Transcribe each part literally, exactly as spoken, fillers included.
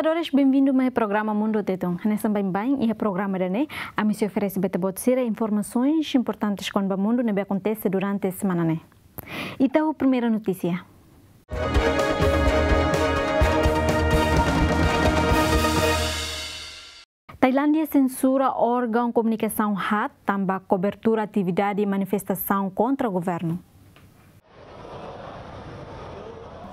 Telespetadores, benvindu mai programa Mundu Tetun. Hanesan baibain iha programa ida-ne'e, ami sei oferese ba ita-boot sira informasaun importante kona-ba mundu ne'ebé akontese durante semana ne'e. Ita ho primeira notísia. Tailándia sensura órgaun komunikasaun HAT tanba kobertura atividade manifestasaun kontra governu.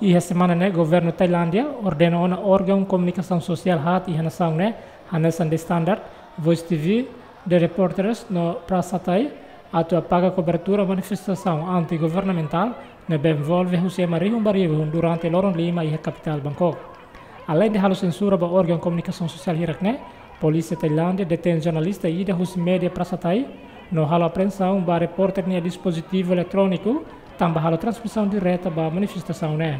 Iha semana ne'e, governu Tailándia ordena ona órgaun komunikasaun sosiál HAT iha nasaun ne'e, hanesan The Standard, Voice T V, The Reporters no Prasatai, atu apaga kobertura manifestasaun anti-governamentál ne'ebé envolve husi ema rihun ba rihun durante loron lima iha kapitál Bangkok. Aleinde halo sensura ba órgaun komunikasaun sosiál hirak ne'e, polísia Tailándia detein jornalista ida husi média Prasatai, no halo apreensaun ba repórter nia dispozitivu eletróniku, tanba halo transmisaun direta ba manifestasaun ne'e.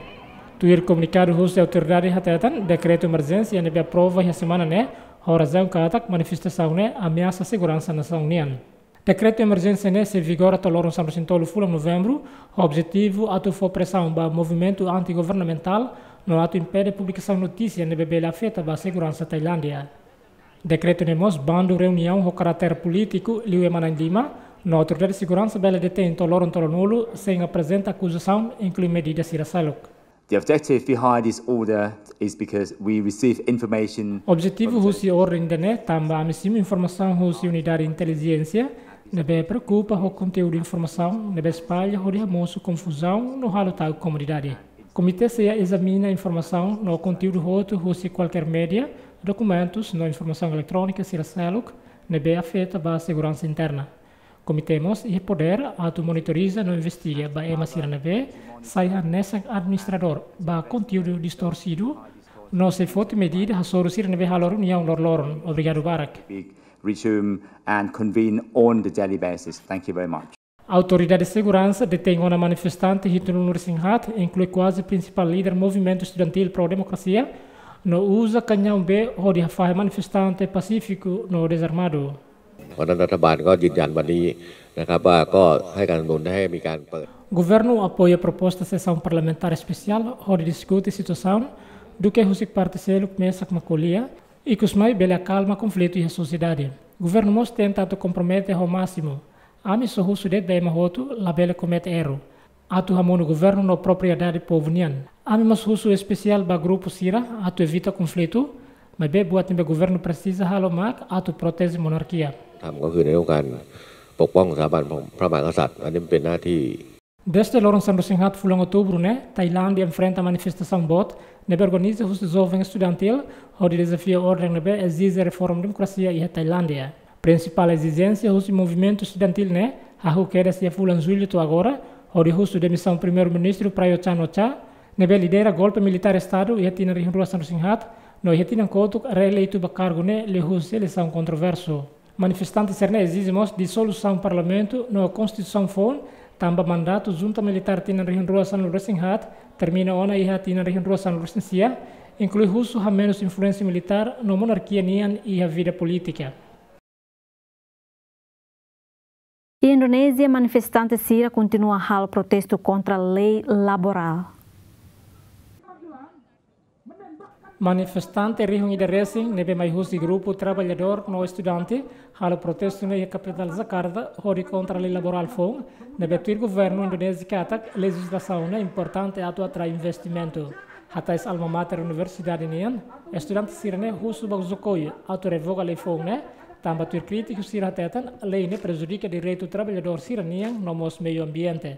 Tuir komunikadu husi autoridade hateten, dekretu emerjénsia ne'ebé aprova iha semana ne'e, ho razaun katak manifestasaun ne'e ameasa seguransa nasaun nian. Dekretu emerjénsia ne'e sei vigora to'o loron sanulu-resin-tolu fulan Novembru, ho objetivu atu fó presaun ba movimentu anti-governamentál, no atu impede publikasaun notísia ne'ebé bele afeta ba seguransa Tailándia. Dekretu ne'e mós bandu reuniaun ho karáter polítiku liu ema na'in-lima, no autoridade seguransa bele detein to'o loron tolunulu sein aprezenta akuzasaun, inklui medida sira seluk. The objective behind this order is because we receive information. Objetivu husi orden ida-ne'e tanba ami simu informasaun husi unidade intelijénsia ne'ebé preokupa ho konteúdu informasaun ne'ebé espalla hodi hamosu konfuzaun no halo ta'uk komunidade. Komité sei ezamina informasaun no konteúdu hotu husi kualkér média, dokumentus no informasaun eletrónika sira seluk ne'ebé afeta ba seguransa interna. Komité mós iha podér atu monitoriza no investiga ba ema sira ne'ebé sai hanesan administradór ba konteúdu distorsidu, no sei foti medida hasoru sira ne'ebé halo reuniaun loroloron. Obrigadu barak. Big resume and convene on the daily basis. Thank you very much. Autoridade seguransa detein ona manifestante hitunulu-resin-haat, inklui kuaze prinsipál líder movimentu estudantíl pró-demokrasia, no uza kañaun bee hodi hafahe manifestante pasífiku no dezarmadu. เพราะฉะนั้นรัฐบาลก็ยืนยันวันนี้นะครับ ว่าก็ให้การสนับสนุนให้มีการเปิด Governu apoia proposta sesaun parlamentár espesiál hodi diskute situasaun duké husik parte seluk mesak mak ko'alia, ikus mai bele akalma konflitu iha sosiedade. Governu mós tenta atu kompromete ho másimu: ami só husu de'it ba ema hotu labele komete erru. Atu hamonu governu no propriedade povu nian. Ami mós husu espesiál ba grupu sira atu evita konflitu, maibé buat ne'ebé governu presiza halo mak atu proteje monarkia. ทำก็คือในเรื่องการปกป้องสถาบันพระมหากษัตริย์ อันนี้มันเป็นหน้าที่ Dezde loron sanulu-resin-haat fulan Outubru ne'e, Tailándia enfrenta manifestasaun boot ne'ebé organiza husi joven estudantíl hodi dezafia orden ne'ebé ezije reforma demokrasia iha Tailándia. Prinsipál ezijénsia husi movimentu estudantíl ne'e hahú kedas iha fulan Jullu to'o agora, hodi husu demisaun Primeiru-Ministru Prayut Chan-o-cha, ne'ebé lidera golpe militár Estadu iha tinan rihun rua sanulu-resin-haat, no iha tinan kotuk reeleitu ba kargu ne'e liuhusi eleisaun kontroversu. Manifestante sira-ne'e ezije mós disolusaun parlamentu no konstituisaun foun, tanba mandatu junta militár tinan rihun rua sanulu-resin-haat termina ona iha tinan rihun rua sanulu-resin-sia, inklui husu hamenus influénsia militár no monarkia nian iha vida polítika. Iha Indonézia, manifestante sira kontinua halo protestu kontra lei laborál. Manifestante rihun ida resin ne'ebé mai husi grupu traballadór no estudante halo protestu ne'e iha kapitál Jakarta hodi kontra lei laborál foun, ne'ebé tuir governu Indonézia katak lejizlasaun ne'e importante atu atrai investimentu. Hatais alma mater universidade nian, estudante sira-ne'e husu ba Jokowi atu revoga lei foun ne'e, tanba tuir krítiku sira hateten lei ne'e prejudika direitu traballadór sira-nian no mós meiu ambiente.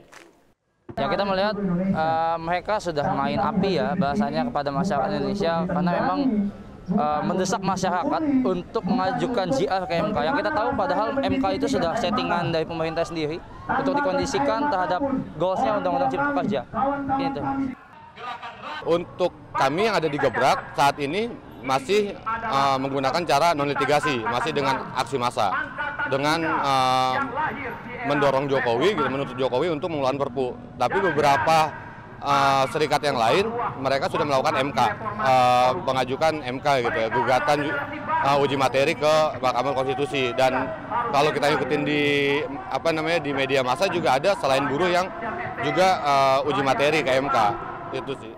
Ya, kita melihat, eh, mereka sudah main api ya, bahasanya kepada masyarakat Indonesia, karena memang, eh, mendesak masyarakat untuk mengajukan J R ke M K. Yang kita tahu padahal M K itu sudah settingan dari pemerintah sendiri untuk dikondisikan terhadap goals-nya Undang-Undang Cipta Kerja. Gitu. Untuk kami yang ada di Gebrak saat ini masih, eh, menggunakan cara non litigasi, masih dengan aksi massa, dengan, eh, mendorong Jokowi, gitu, menuntut Jokowi untuk mengeluarkan Perpu. Tapi beberapa, eh, serikat yang lain, mereka sudah melakukan M K, eh, mengajukan M K gitu ya, gugatan ju-, eh, uji materi ke Mahkamah Konstitusi. Dan kalau kita ikutin di, apa namanya, di media massa juga ada selain buruh yang juga, eh, uji materi ke M K.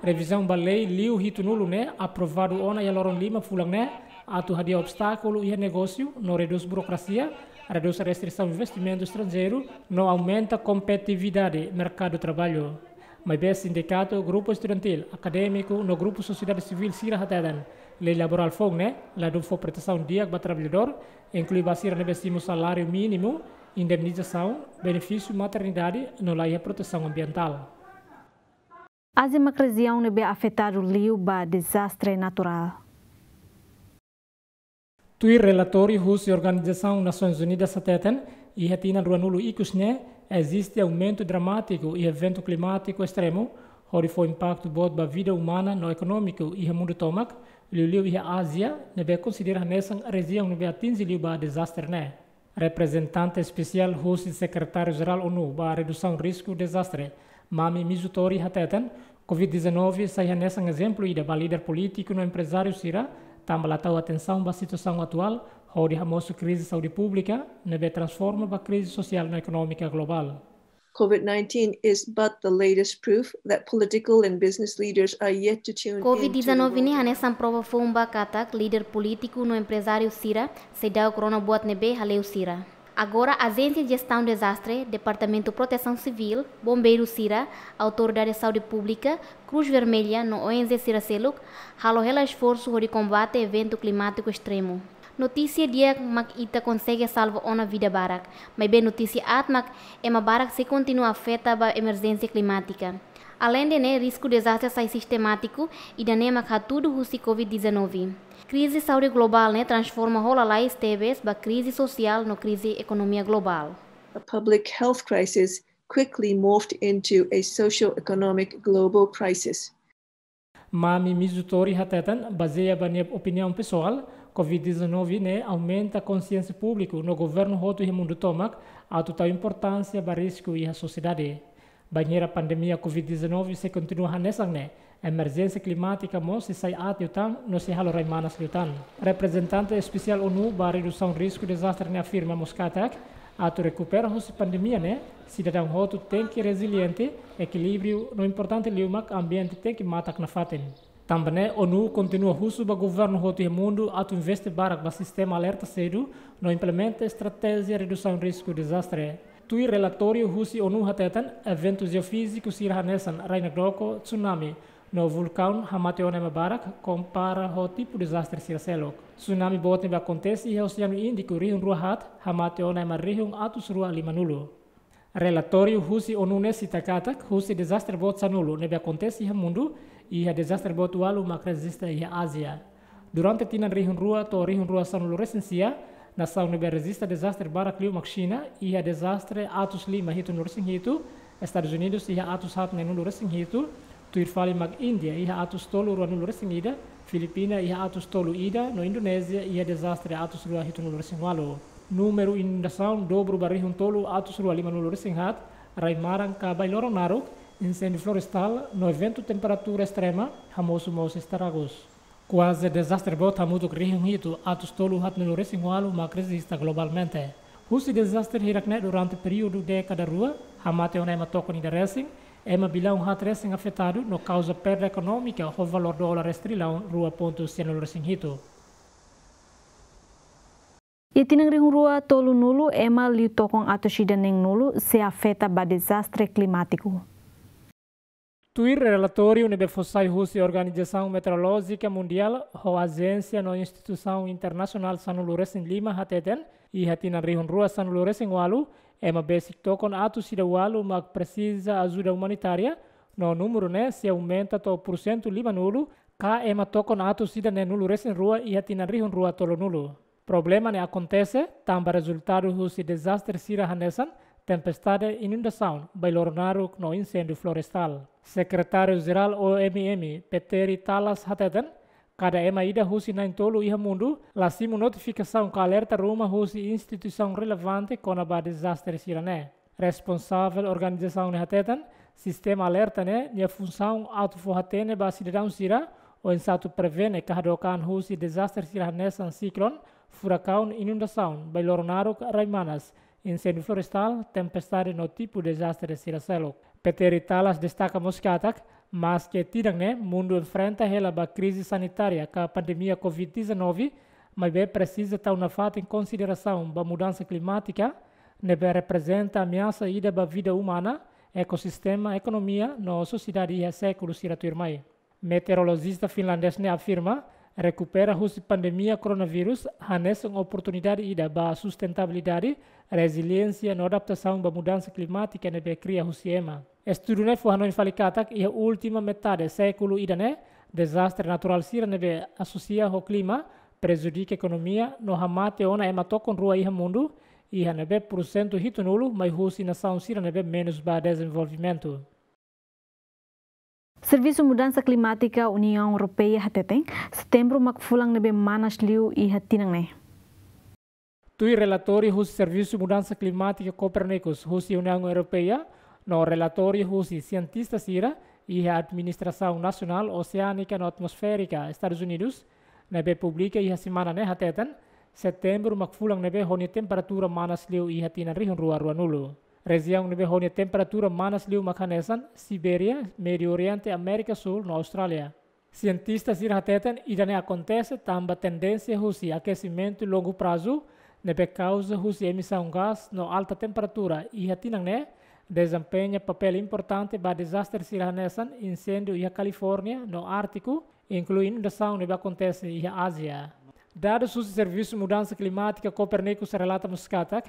Revizaun ba lei liu hitunulu ne'e aprovadu ona iha loron lima fulan ne'e, atu hadi'a obstákulu iha negósiu no redús burokrasia, redús restrisaun investimentu estranjeiru no aumenta kompetitividade merkadu traballu. Maibé sindikatu, grupu estudantíl, akadémiku no grupu sosiedade sivíl sira hateten, lei laborál foun ne'e ladún fó protesaun di'ak ba traballadór, inklui ba sira ne'ebé simu saláriu mínimu, indemnizasaun, benefísiu maternidade no la iha protesaun ambientál. Ázia mak rejiaun ne'ebé afetadu liu ba dezastre naturál. Tuir relatóriu husi Organizasaun Nasoins Unidas hateten, iha tinan ruanulu ikus ne'e, eziste aumentu dramátiku iha eventu klimátiku estremu, hodi fó impaktu boot ba vida umana no ekonómiku iha mundu tomak, liuliu iha Ázia, ne'ebé konsidera hanesan rejiaun ne'ebé atinje liu ba dezastre ne'e. Reprezentante espesiál husi Sekretáriu Jerál ONU ba Redusaun Risku Dezastre, Mami Mizutori hateten, covid dezanove sai hanesan ezemplu ida ba líder polítiku no emprezáriu sira, tanba la tau atensaun ba situasaun atuál, hodi hamosu krize saúde públika, ne'ebé transforma ba krize sosiál no ekonómika globál. covid nineteen is but the latest proof that political and business leaders are yet to tune covid dezanove ne'e hanesan prova foun ba katak líder polítiku no emprezáriu sira seidauk rona buat ne'ebé hale'u sira. Agora, Ajénsia Jestaun Dezastre, Departamentu Protesaun Sivíl, Bombeiru sira, Autoridade Saúde Públika, Cruz Vermelha no ONG sira seluk halo hela esforsu hodi kombate eventu klimátiku estremu. Notísia di'ak mak ita konsege salva ona vida barak, maibé notísia aat mak ema barak sei kontinua afeta ba emerjénsia klimátika. Aleinde ne'e, risku dezastre sai sistemátiku, ida-ne'e mak hatudu husi covid dezanove. Krize saúde globál ne'e transforma ho lalais tebes ba krize sosiál no krize ekonomia globál. A public health crisis quickly morphed into a socio-economic global crisis. Mami Mizutori hateten, bazeia ba nia opiniaun pesoál, covid dezanove ne'e aumenta konsiénsia públiku no governu hotu iha mundu tomak atu tau importánsia ba risku iha sosiedade. Bainhira pandemia covid dezanove sei kontinua hanesan ne'e, emerjénsia klimátika mós sei sai aat liután no sei halo rai manas liután. Reprezentante espesiál ONU ba Redusaun Risku Dezastre ne'e afirma mós katak, atu rekupera husi pandemia ne'e, sidadaun hotu tenke reziliente, ekilíbriu no importante liu mak ambiente tenke matak nafatin. Tanba ne'e, ONU kontinua husu ba governu hotu iha mundu atu investe barak ba sistema alerta sedu no implementa estratéjia redusaun risku dezastre. Tuir relatóriu husi ONU hateten, eventu jeofíziku sira hanesan rai-nakdoko, tsunami, no vulkaun hamate ona ema barak, kompara ho tipu dezastre sira seluk. Tsunami boot ne'ebé akontese iha Oseanu Índiku rihun rua haat, hamate ona ema rihun atus rua limanulu. Relatóriu husi ONU ne'e sita katak, husi dezastre boot sanulu ne'ebé akontese iha mundu, iha dezastre boot ualu mak rejista iha Ázia. Durante tinan rihun rua to'o rihun rua sanulu resin sia, nasaun ne'ebé rejista dezastre barak liu mak Xina, iha dezastre atus lima hitunulu resin hitu, Estadus Unidus iha atus haat neenulu resin hitu, tuir fali mak Índia iha atus tolu ruanulu resin ida, Filipina iha atus tolu ida, no Indonézia iha dezastre atus rua hitunulu resin ualu. Númeru inundasaun dobru ba rihun tolu atus rua limanulu resin haat, rai-maran ka bai-loron naruk, inséndiu florestál, no eventu temperatura estrema, hamosu mós estragus. Kuaze dezastre boot hamutuk rihun hitu atus tolu haatnulu resin ualu mak rejista globalmente. Husi dezastre hirak ne'e durante períodu dékada rua, hamate ona ema tokon ida resin, ema bilaun haat resin afetadu no kauza perda ekonómika ho valór dolar restrilaun rua pontu sianulu resin hitu. Iha tinan rihun rua tolunulu, ema liu tokon atus ida neenulu sei afeta ba dezastre klimátiku. Tuir relatóriu ne'ebé fó sai husi Organizasaun Meteorolójika Mundiál, ho ajénsia no instituisaun internasionál sanulu resin lima hateten, iha tinan rihun rua sanulu resin ualu, ema besik tokon atus ida ualu mak presiza ajuda umanitária, no númeru ne'e sei aumenta to'o pursentu limanulu, ka ema tokon atus ida neenulu resin rua iha tinan rihun rua tolunulu. Problema ne'e akontese tanba rezultadu husi dezastre sira hanesan tempestade, inundasaun, bai-loron naruk no inséndiu florestál. Sekretáriu Jerál O M M, Petteri Taalas hateten, kada ema ida husi na'in-tolu iha mundu la simu notifikasaun ka alerta ruma husi instituisaun relevante kona-ba dezastre sira-ne'e. Responsavel organizasaun ne'e hateten, sistema alerta ne'e nia funsaun atu fó hatene ba sidadaun sira, oinsá atu prevene ka hadook an husi dezastre sira hanesan siklone, furakaun, inundasaun, bai-loron naruk, rai-manas, inséndiu florestál, tempestade no tipu dezastre sira seluk. Petteri Taalas destaka mós katak, Maske tinan ne'e mundu enfrenta hela ba krize sanitária ka pandemia covid dezanove, maibé presiza tau nafatin konsiderasaun ba mudansa klimátika, ne'ebé reprezenta ameasa ida ba vida umana, ekosistema, ekonomia no sosiedade iha sékulu sira tuirmai. Meteorolojista finlandês ne'e afirma, rekupera husi pandemia koronavírus hanesan oportunidade ida ba sustentabilidade, reziliénsia no adaptasaun ba mudansa klimátika ne'ebé kria husi ema. Estudu ne'e fó hanoin fali katak iha última metade sékulu ida-ne'e, dezastre naturál sira ne'ebé asosia ho klima prejudika ekonomia no hamate ona ema tokon rua iha mundu, iha ne'ebé pursentu hitunulu mai husi nasaun sira ne'ebé menus ba dezenvolvimentu. Servisu Mudansa Klimátika Uniaun Europeia hateten, Setembru mak fulan ne'ebé manas liu iha tinan ne'e. Tuir relatóriu husi Servisu Mudansa Klimátika Copernicus husi Uniaun Europeia, no relatóriu husi sientista sira iha Administrasaun Nasionál Oseánika no Atmosférika Estadus Unidus, ne'ebé publika iha semana ne'e hateten, Setembru mak fulan ne'ebé ho nia temperatura manas liu iha tinan rihun rua ruanulu. Rejiaun ne'ebé ho nia temperatura manas liu mak hanesan Sibéria, Médiu Oriente, Amérika Súl no Austrália. Sientista sira hateten ida-ne'e akontese tanba tendénsia husi akesimentu longu prazu, ne'ebé kauza husi emisaun gás no alta temperatura iha tinan ne'e, dezempeña papél importante ba dezastre sira hanesan inséndiu iha Kalifórnia no Ártiku, inklui inundasaun ne'ebé akontese iha Ázia. Dadus husi Servisu Mudansa Klimátika Copernicus relata mós katak,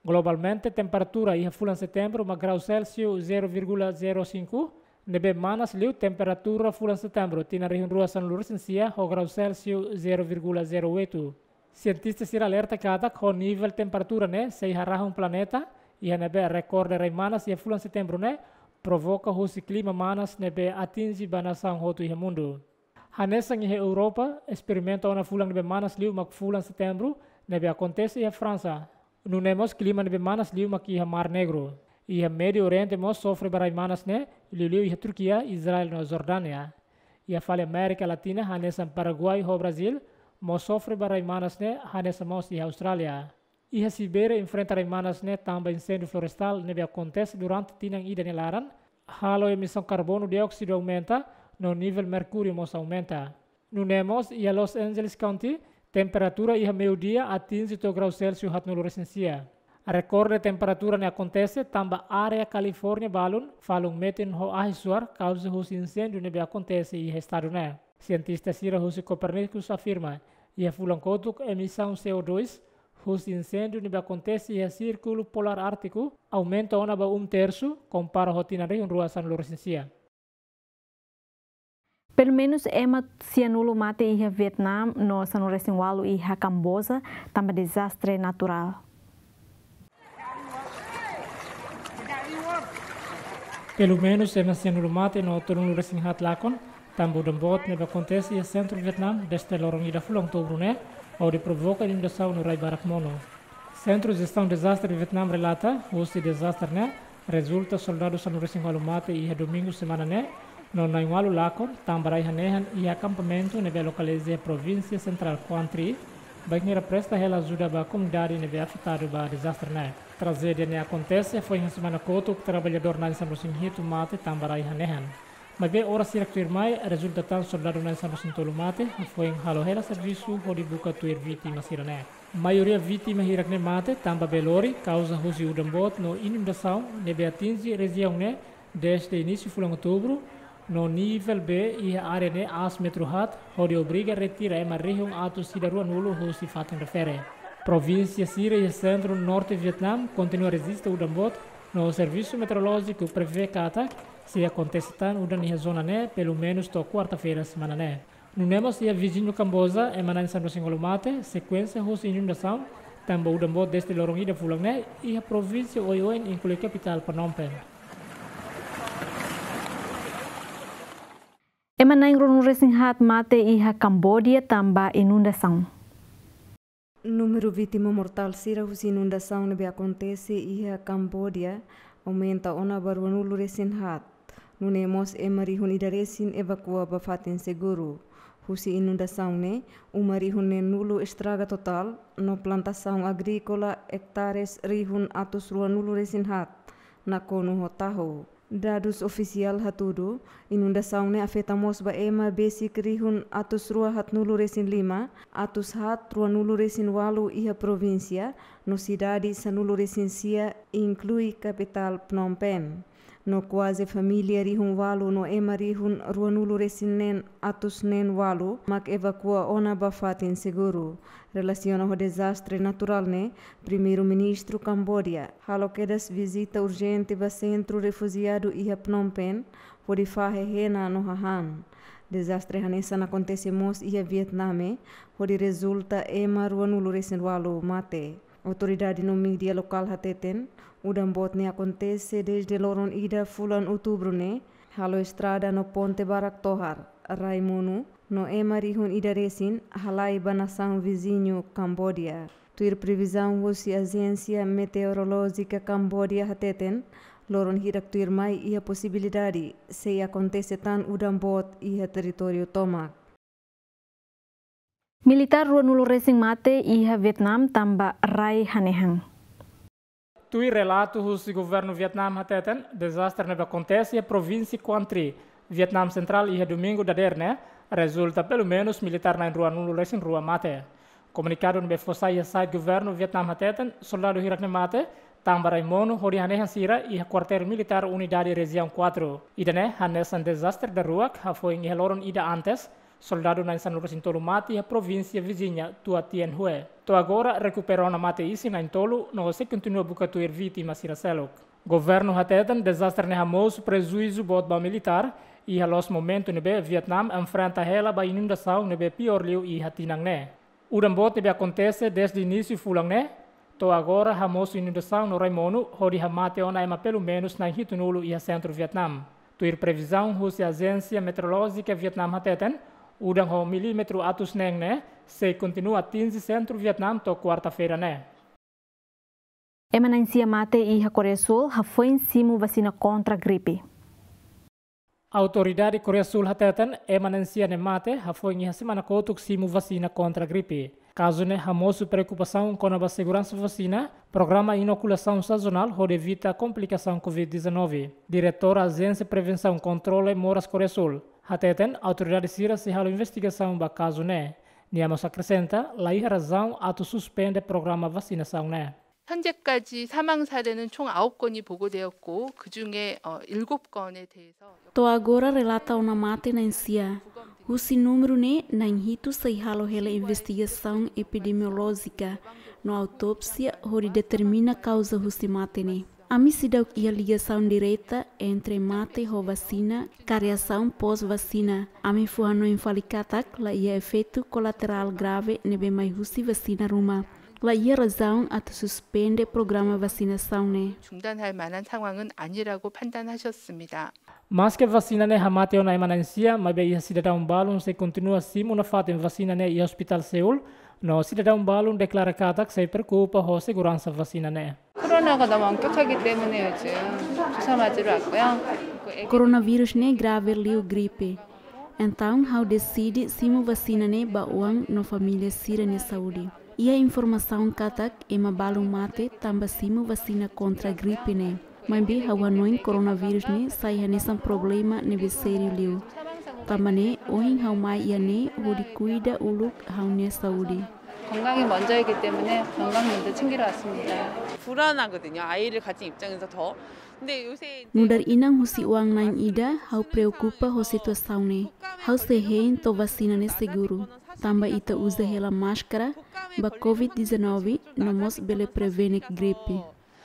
globalmente temperatura iha fulan Setembru mak grau Celsius zero vírgula zero cinco, ne'ebé manas liu temperatura fulan Setembru tinan rihun rua sanulu resin sia ho grau Celsius zero vírgula zero oito. Sientista sira alerta katak ho nivel temperatura ne'e sei harahun planeta, iha ne'ebé rekorde rai manas iha fulan Setembru ne'e provoka husi klima manas ne'ebé atinje ba nasaun hotu iha mundu. Hanesan iha Europa, esperimentu ona fulan ne'ebé manas liu mak fulan Setembru, ne'ebé akontese iha Fransa. Nune'e mós klima ne'ebé manas liu mak iha Mar Negru. Iha Médiu Oriente mós sofre ba rai manas ne'e, liuliu iha Turkia, Israel no Jordánia. Iha fali Amérika Latina, hanesan Paraguai ho Brazíl, mós sofre ba rai manas ne'e, hanesan mós iha Austrália. Iha Sibéria enfrenta rai manas ne'e tanba inséndiu florestál ne'ebé akontese durante tinan ida nia laran, halo emisaun karbonu dióksidu aumenta, no nivel merkúriu mós aumenta. Nune'e mós iha Los Angeles County, temperatura iha meiudia atinje to'o grau Celsius haatnulu resin sia. Rekorde temperatura ne'e akontese tanba área Kalifórnia balun falun metin ho ahi-suar kauza husi inséndiu ne'ebé akontese iha estadu ne'e. Sientista sira husi Copernicus afirma, iha fulan kotuk emisaun C O dois husi inséndiu ne'ebé akontese iha Sírkulu Polár Ártiku aumenta ona ba um tersu, kompara ho tinan rihun rua sanulu resin sia. Pelumenus ema sianulu mate iha Vietnam no sanulu resin ualu iha Kamboja tanba dezastre naturál. Pelumenus ema sianulu mate no tolunulu resin haat lakon tanba udan boot ne'ebé akontese iha sentru Vietnam dezde loron ida fulan Outubru ne'e, hodi provoka inundasaun no rai barak monu. Sentru Jestaun Dezastre Vietnam relata, husi dezastre ne'e, rezulta soldadu sanulu resin ualu mate iha domingu semana ne'e, no na'in ualu lakon tanba rai hanehan iha akampamentu ne'ebé lokaliza iha provínsia sentrál Quang Tri, bainhira presta hela ajuda ba komunidade ne'ebé afetadu ba dezastre ne'e. Trajédia ne'e akontese foin semana kotuk, traballadór na'in sanulu resin hitu mate tanba rai hanehan. Maibé oras hirak tuirmai, rezulta tan soldadu na'in sanulu resin tolu mate, foin halo hela servisu hodi buka tuir vítima sira-ne'e. Maioria vítima hirak-ne'e mate tanba bee lori, kauza husi udan boot no inundasaun ne'ebé atinje rejiaun ne'e dezde inísiu fulan Outubru, no nivel bee iha área ne'e aas metru haat, hodi obriga retira ema rihun atus ida ruanulu husi fatin refere. Provínsia sira iha sentru norte Vietnam kontinua rejista udan boot, no servisu meteorolójiku prevee katak sei akontese tan udan iha zona ne'e pelumenus to'o kuarta-feira semana ne'e. Nune'e mós iha viziñu Kamboja, ema na'in sanulu resin ualu mate, sekuénsia husi inundasaun tanba udan boot dezde loron ida fulan ne'e, iha provínsia oioin inklui kapitál Phnom Penh. Ema na'in ruanulu resin haat mate iha Kambodia tanba inundasaun. Númeru vítima mortál sira husi inundasaun ne'ebé akontese iha Kambodia aumenta ona ba ruanulu resin haat. Nune'e mós ema rihun ida resin evakua ba fatin seguru. Husi inundasaun ne'e, uma rihun neenulu estraga totál, no plantasaun agríkola ektares rihun atus ruanulu resin haat nakonu ho tahu. Dadus ofisiál hatudu, inundasaun ne'e afeta mós ba ema besik rihun atus rua haatnulu resin lima, atus haat ruanulu resin ualu iha provínsia, no sidade sanulu resin sia, inklui kapitál Phnom Penh. No kuaze família rihun ualu no ema rihun ruanulu resin neen atus neen ualu mak evakua ona ba fatin seguru. Relasiona ho dezastre naturál ne'e, Primeiru-Ministru Kambodia halo kedas vizita urjente ba sentru refujiadu iha Phnom Penh, hodi fahe hena no hahán. Dezastre hanesan akontese mós iha Vietname, hodi rezulta ema ruanulu resin ualu mate. Autoridade no mídia lokál hateten, udan boot ne'e akontese dezde loron ida fulan Outubru ne'e, halo estrada no ponte barak tohar, rai monu, no ema rihun ida resin halai ba nasaun viziñu Kambodia. Tuir previzaun husi Ajénsia Meteorolójika Kambodia hateten, loron hirak tuirmai iha posibilidade sei akontese tan udan boot iha territóriu tomak. Militár ruanulu resin mate iha Vietnam tanba rai hanehan. Tuir relatu husi governu Vietnam hateten, dezastre ne'ebé akontese iha provínsia Quang Tri, Vietnam Sentrál iha domingu dadeer ne'e, rezulta pelumenus militár na'in ruanulu resin rua mate. Komunikadu ne'ebé fó sai iha site governu Vietnam hateten, soldadu hirak ne'e mate tanba rai monu hodi hanehan sira iha kuartél militár Unidade Rejiaun Quatro. Ida-ne'e hanesan dezastre daruak hafoin iha loron ida antes, soldadu na'in sanulu resin tolu mate iha provínsia viziña Tua Tien Hue. To'o agora rekupera ona mate isin na'in tolu, no sei kontinua buka tuir vítima sira seluk. Governu hateten dezastre ne'e hamosu prejuízu boot ba militár, iha loos momentu ne'ebé Vietnam enfrenta hela ba inundasaun ne'ebé piór liu iha tinan ne'e. Udan boot ne'ebé akontese dezde inísiu fulan ne'e, to'o agora hamosu inundasaun no rai monu, hodi hamate ona ema pelumenus na'in hitunulu iha sentru Vietnam. Tuir previzaun husi Ajénsia Meteorolójika Vietnam hateten, udan ho milímetru atus neen ne'e sei kontinua atinje sentru Vietnam to'o kuarta-feira ne'e. Ema na'in sia mate iha Koreia Súl hafoin simu vasina kontra gripe. Autoridade Koreia Súl hateten, ema na'in sia ne'e mate hafoin iha semana kotuk simu vasina kontra gripe. Kazu ne'e hamosu preokupasaun kona-ba seguransa vasina, programa inokulasaun sazonál hodi evita komplikasaun covid dezanove. Diretór Ajénsia Prevensaun Kontrole Moras Koreia Súl hateten, autoridade sira sei halo investigasaun ba kazu ne'e. Nia mós akresenta, laiha razaun atu suspende programa vasinasaun ne'e. 현재까지 사망 사례는 총 아홉 건이 보고되었고, 그중에, 어, 일곱 건에 대해서 To'o agora relata ona mate na'in sia. Husi númeru ne'e, na'in hitu sei halo hela investigasaun epidemiolójika no autópsia hodi determina kauza husi mate ne'e. Ami seidauk iha ligasaun direta entre mate ho vasina ka reasaun pós-vasina. Ami fó hanoin fali katak laiha efeitu kolaterál grave ne'ebé mai husi vasina ruma. Laiha razaun atu suspende programa vasinasaun ne'e. 중단할 만한 상황은 아니라고 판단하셨습니다. Maske vasina ne'e hamate ona ema na'in sia, maibé iha sidadaun balun sei kontinua simu nafatin vasina ne'e iha Ospitál Seul, no sidadaun balun deklara katak sei preokupa ho seguransa vasina ne'e. 코로나가 너무 엄격하기 때문에 요즘 주사 맞으러 왔고요. 그 애기 Koronavírus ne'e grave liu gripe. Entaun, ha'u deside simu vasina ne'e ba oan no família sira-nia saúde. Iha informasaun katak ema balun mate tanba simu vasina kontra gripe ne'e. Maibé ha'u hanoin koronavírus ne'e sai hanesan problema ne'ebé sériu liu. Tanba ne'e, ohin ha'u mai iha ne'e hodi kuida uluk ha'u-nia saúde. 건강이 먼저이기 때문에 건강 먼저 챙기러 왔습니다. 불안하거든요. 아이를 가진 입장에서 더. 근데 요새 이제 Nu'udar inan husi oan na'in ida, ha'u preokupa ho situasaun ne'e. Ha'u sei hein to'o vasina ne'e seguru. Tanba ita uza hela máskara ba covid dezanove, no mós bele prevene gripe.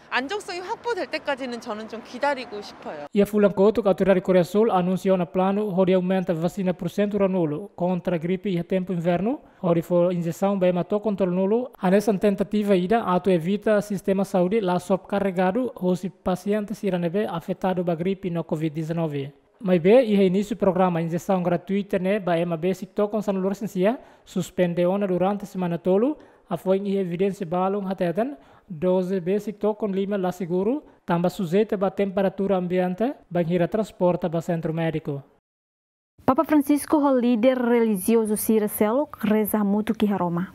안정성이 확보될 때까지는 저는 좀 기다리고 싶어요. Iha fulan kotuk, autoridade Koreia Súl anunsia ona planu hodi aumenta vasina pursentu ruanulu kontra gripe iha tempu invernu, hodi fó injesaun ba ema to'o kontra nulu, hanesan tentativa ida atu evita sistema saúde la sobrekarregadu hosi pasiente sira ne'ebé afetadu ba gripe no covid dezanove. Maibé, iha inísiu programa injesaun gratuita ne'e ba ema besik to'o sanulu resin sia, suspende ona durante semana tolu, hafoin iha evidénsia balun hateten, doze besik to'o lima la seguru, tanba sujeita ba temperatura ambiente, bainhira transporta ba sentru médiku. Papa Francisco ho líder relijiozu sira seluk reza hamutuk iha Roma.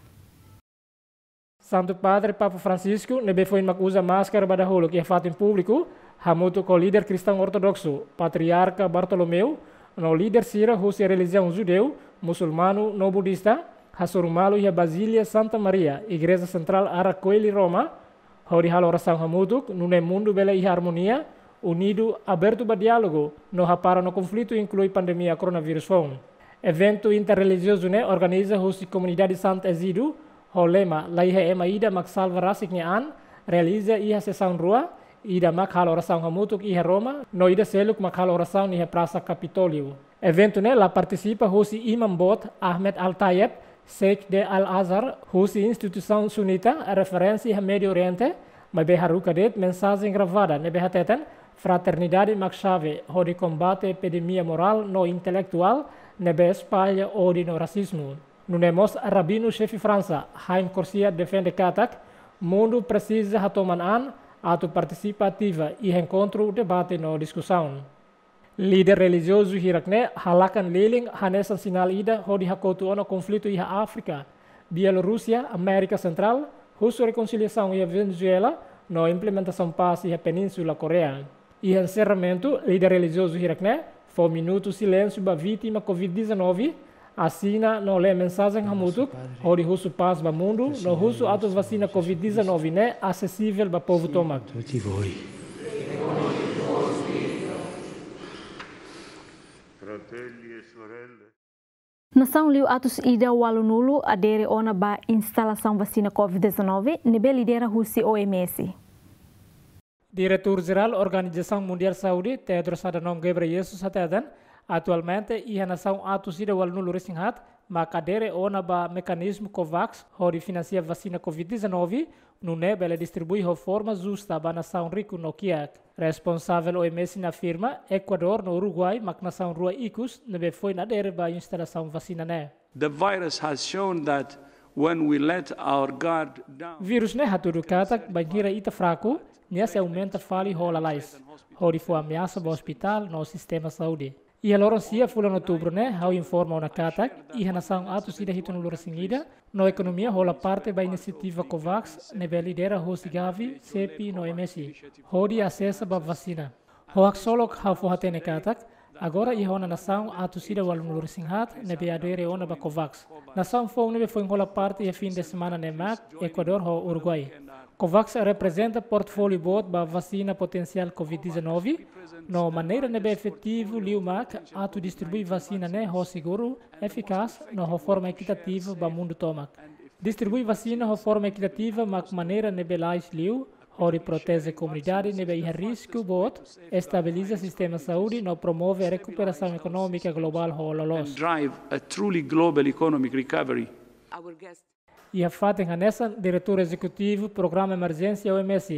Santu Padre Papa Francisco, ne'ebé foin mak uza máskara ba dahuluk iha fatin públiku, Hamutuk ho líder kristaun ortodoksu, Patriarka Bartolomeu, no líder sira husi relijiaun judeu, musulmanu no budista, hasoru malu iha Bazília Santa Maria, Igreja Sentrál Ara Coeli, Roma, hodi halo orasaun hamutuk, nune'e mundu bele iha armonia, unidu, abertu ba diálogu, no hapara no konflitu inklui pandemia koronavírus foun. Eventu interrelijiozu ne'e organiza husi komunidade Sant Ezídio, ho lema, "Laiha ema ida mak salva rasik nia an", realiza iha sesaun rua, ida mak halo orasaun hamutuk iha Roma, no ida seluk mak halo orasaun iha Prasa Kapitóliu. Eventu ne'e la partisipa husi Imam Boot Ahmed Al-Tayeb, Sheikh de Al-Azhar, husi instituisaun sunita, referénsia iha Médiu Oriente, maibé haruka de'it mensajen gravada ne'ebé hateten, fraternidade mak xave hodi kombate epidemia morál no intelektuál ne'ebé espalla ódiu no rasizmu. Nune'e mós rabinu xefe Fransa, Haim Crouciat defende katak, mundu presiza hatoman an, atu partisipa ativa iha enkontru, debate no diskusaun. Líder relijiozu hirak-ne'e halakan lilin hanesan sinál ida hodi hakotu ona konflitu iha Áfrika, Bielorúsia, Amérika Sentrál, husu rekonsiliasaun iha Venezuela, no implementasaun pás iha Península Koreia. Iha enserramentu, líder relijiozu hirak-ne'e fó minutu silénsiu ba vítima covid dezanove, asina no lee mensajen hamutuk, hodi husu pás ba mundu, no husu atu vasina covid dezanove ne'e asesivel ba povu tomak. Tutti voi. Fratelli e sorelle. Nasaun liu atus ida ualunulu adere ona ba instalasaun vasina covid dezanove, ne'ebé lidera husi O M S. Diretór Jerál Organizasaun Mundiál Saúde, Tedros Adhanom Ghebreyesus, hateten, atualmente iha nasaun atus ida ualunulu resin haat mak adere ona ba mekanizmu COVAX hodi finansia vasina covid dezanove, nune'e bele distribui ho forma justa ba nasaun riku no kiak. Responsavel O M S ne'e afirma, Ekuadór no Uruguai mak nasaun rua ikus ne'ebé foin adere ba instalasaun vasina ne'e. The virus has shown that when we let our guard down, Vírus ne'e hatudu katak, bainhira ita fraku, nia sei aumenta fali ho lalais, hodi fó ameasa ba ospitál no sistema saúde. Iha loron sia fulan Outubru ne'e, ha'u informa ona katak, iha nasaun atus ida hitunulu resin ida, no ekonomia hola parte ba inisiativa COVAX, ne'ebé lidera husi Gavi, CEPI no M S, hodi asesa ba vasina. Ho haksolok ha'u fó hatene katak, agora iha ona nasaun atus ida ualunulu resin haat ne'ebé adere ona ba COVAX. Nasaun foun ne'ebé foin hola parte iha fin de semana ne'e mak Ekuadór ho Uruguai. COVAX reprezenta portfóliu boot ba vasina potensiál covid dezanove, no maneira ne'ebé efetivu liu mak atu distribui vasina ne'e ho seguru, efikás, no ho forma ekitativa ba mundu tomak. Distribui vasina ho forma ekitativa mak maneira ne'ebé lais liu, hodi proteje komunidade ne'ebé iha risku boot, estabiliza sistema saúde no promove rekuperasaun ekonómika globál ho loloos. And drive a truly global economic recovery. Iha fatin hanesan, Diretór Ezekutivu Programa Emerjénsia O M S,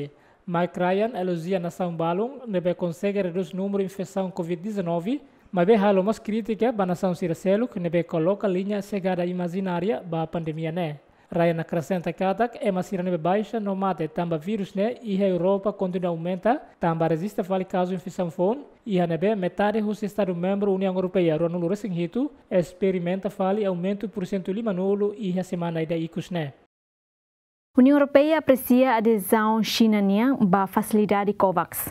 Mike Ryan, elojia nasaun balun ne'ebé konsege redús númeru infesaun covid dezanove, maibé halo mós krítika ba nasaun sira seluk ne'ebé koloka liña xegada imajinária ba pandemia ne'e. Ryan akresenta katak, ema sira ne'ebé baixa no mate tanba vírus ne'e iha Europa kontinua aumenta, tanba rejista fali kazu infesaun foun, iha ne'ebé metade husi Estadu membru Uniaun Europeia ruanulu resin hitu esperimenta fali aumentu pursentu limanulu iha semana ida ikus ne'e. Uniaun Europeia apresia adezaun Xina nian ba fasilidade COVAX.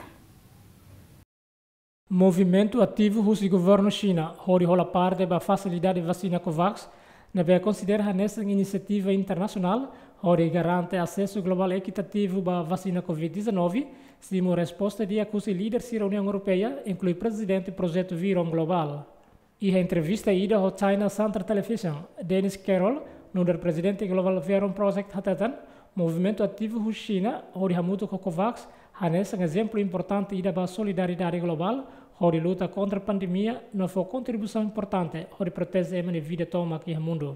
Movimentu ativu husi governu Xina hodi hola parte ba fasilidade vasina COVAX, ne'ebé konsidera hanesan inisiativa internasionál hodi garante asesu globál ekitativu ba vasina covid dezanove, simu resposta di'ak husi líder sira Uniaun Europeia, inklui prezidente projetu Verum Global. Iha entrevista ida ho China Central Television, Dennis Carroll, nu'udar prezidente globál Verum Project, hateten, movimentu ativu husi Xina hodi hamutuk ho COVAX hanesan ezemplu importante ida ba solidariedade globál hodi luta kontra pandemia no fó kontribuisaun importante hodi proteje ema nia vida tomak iha mundu.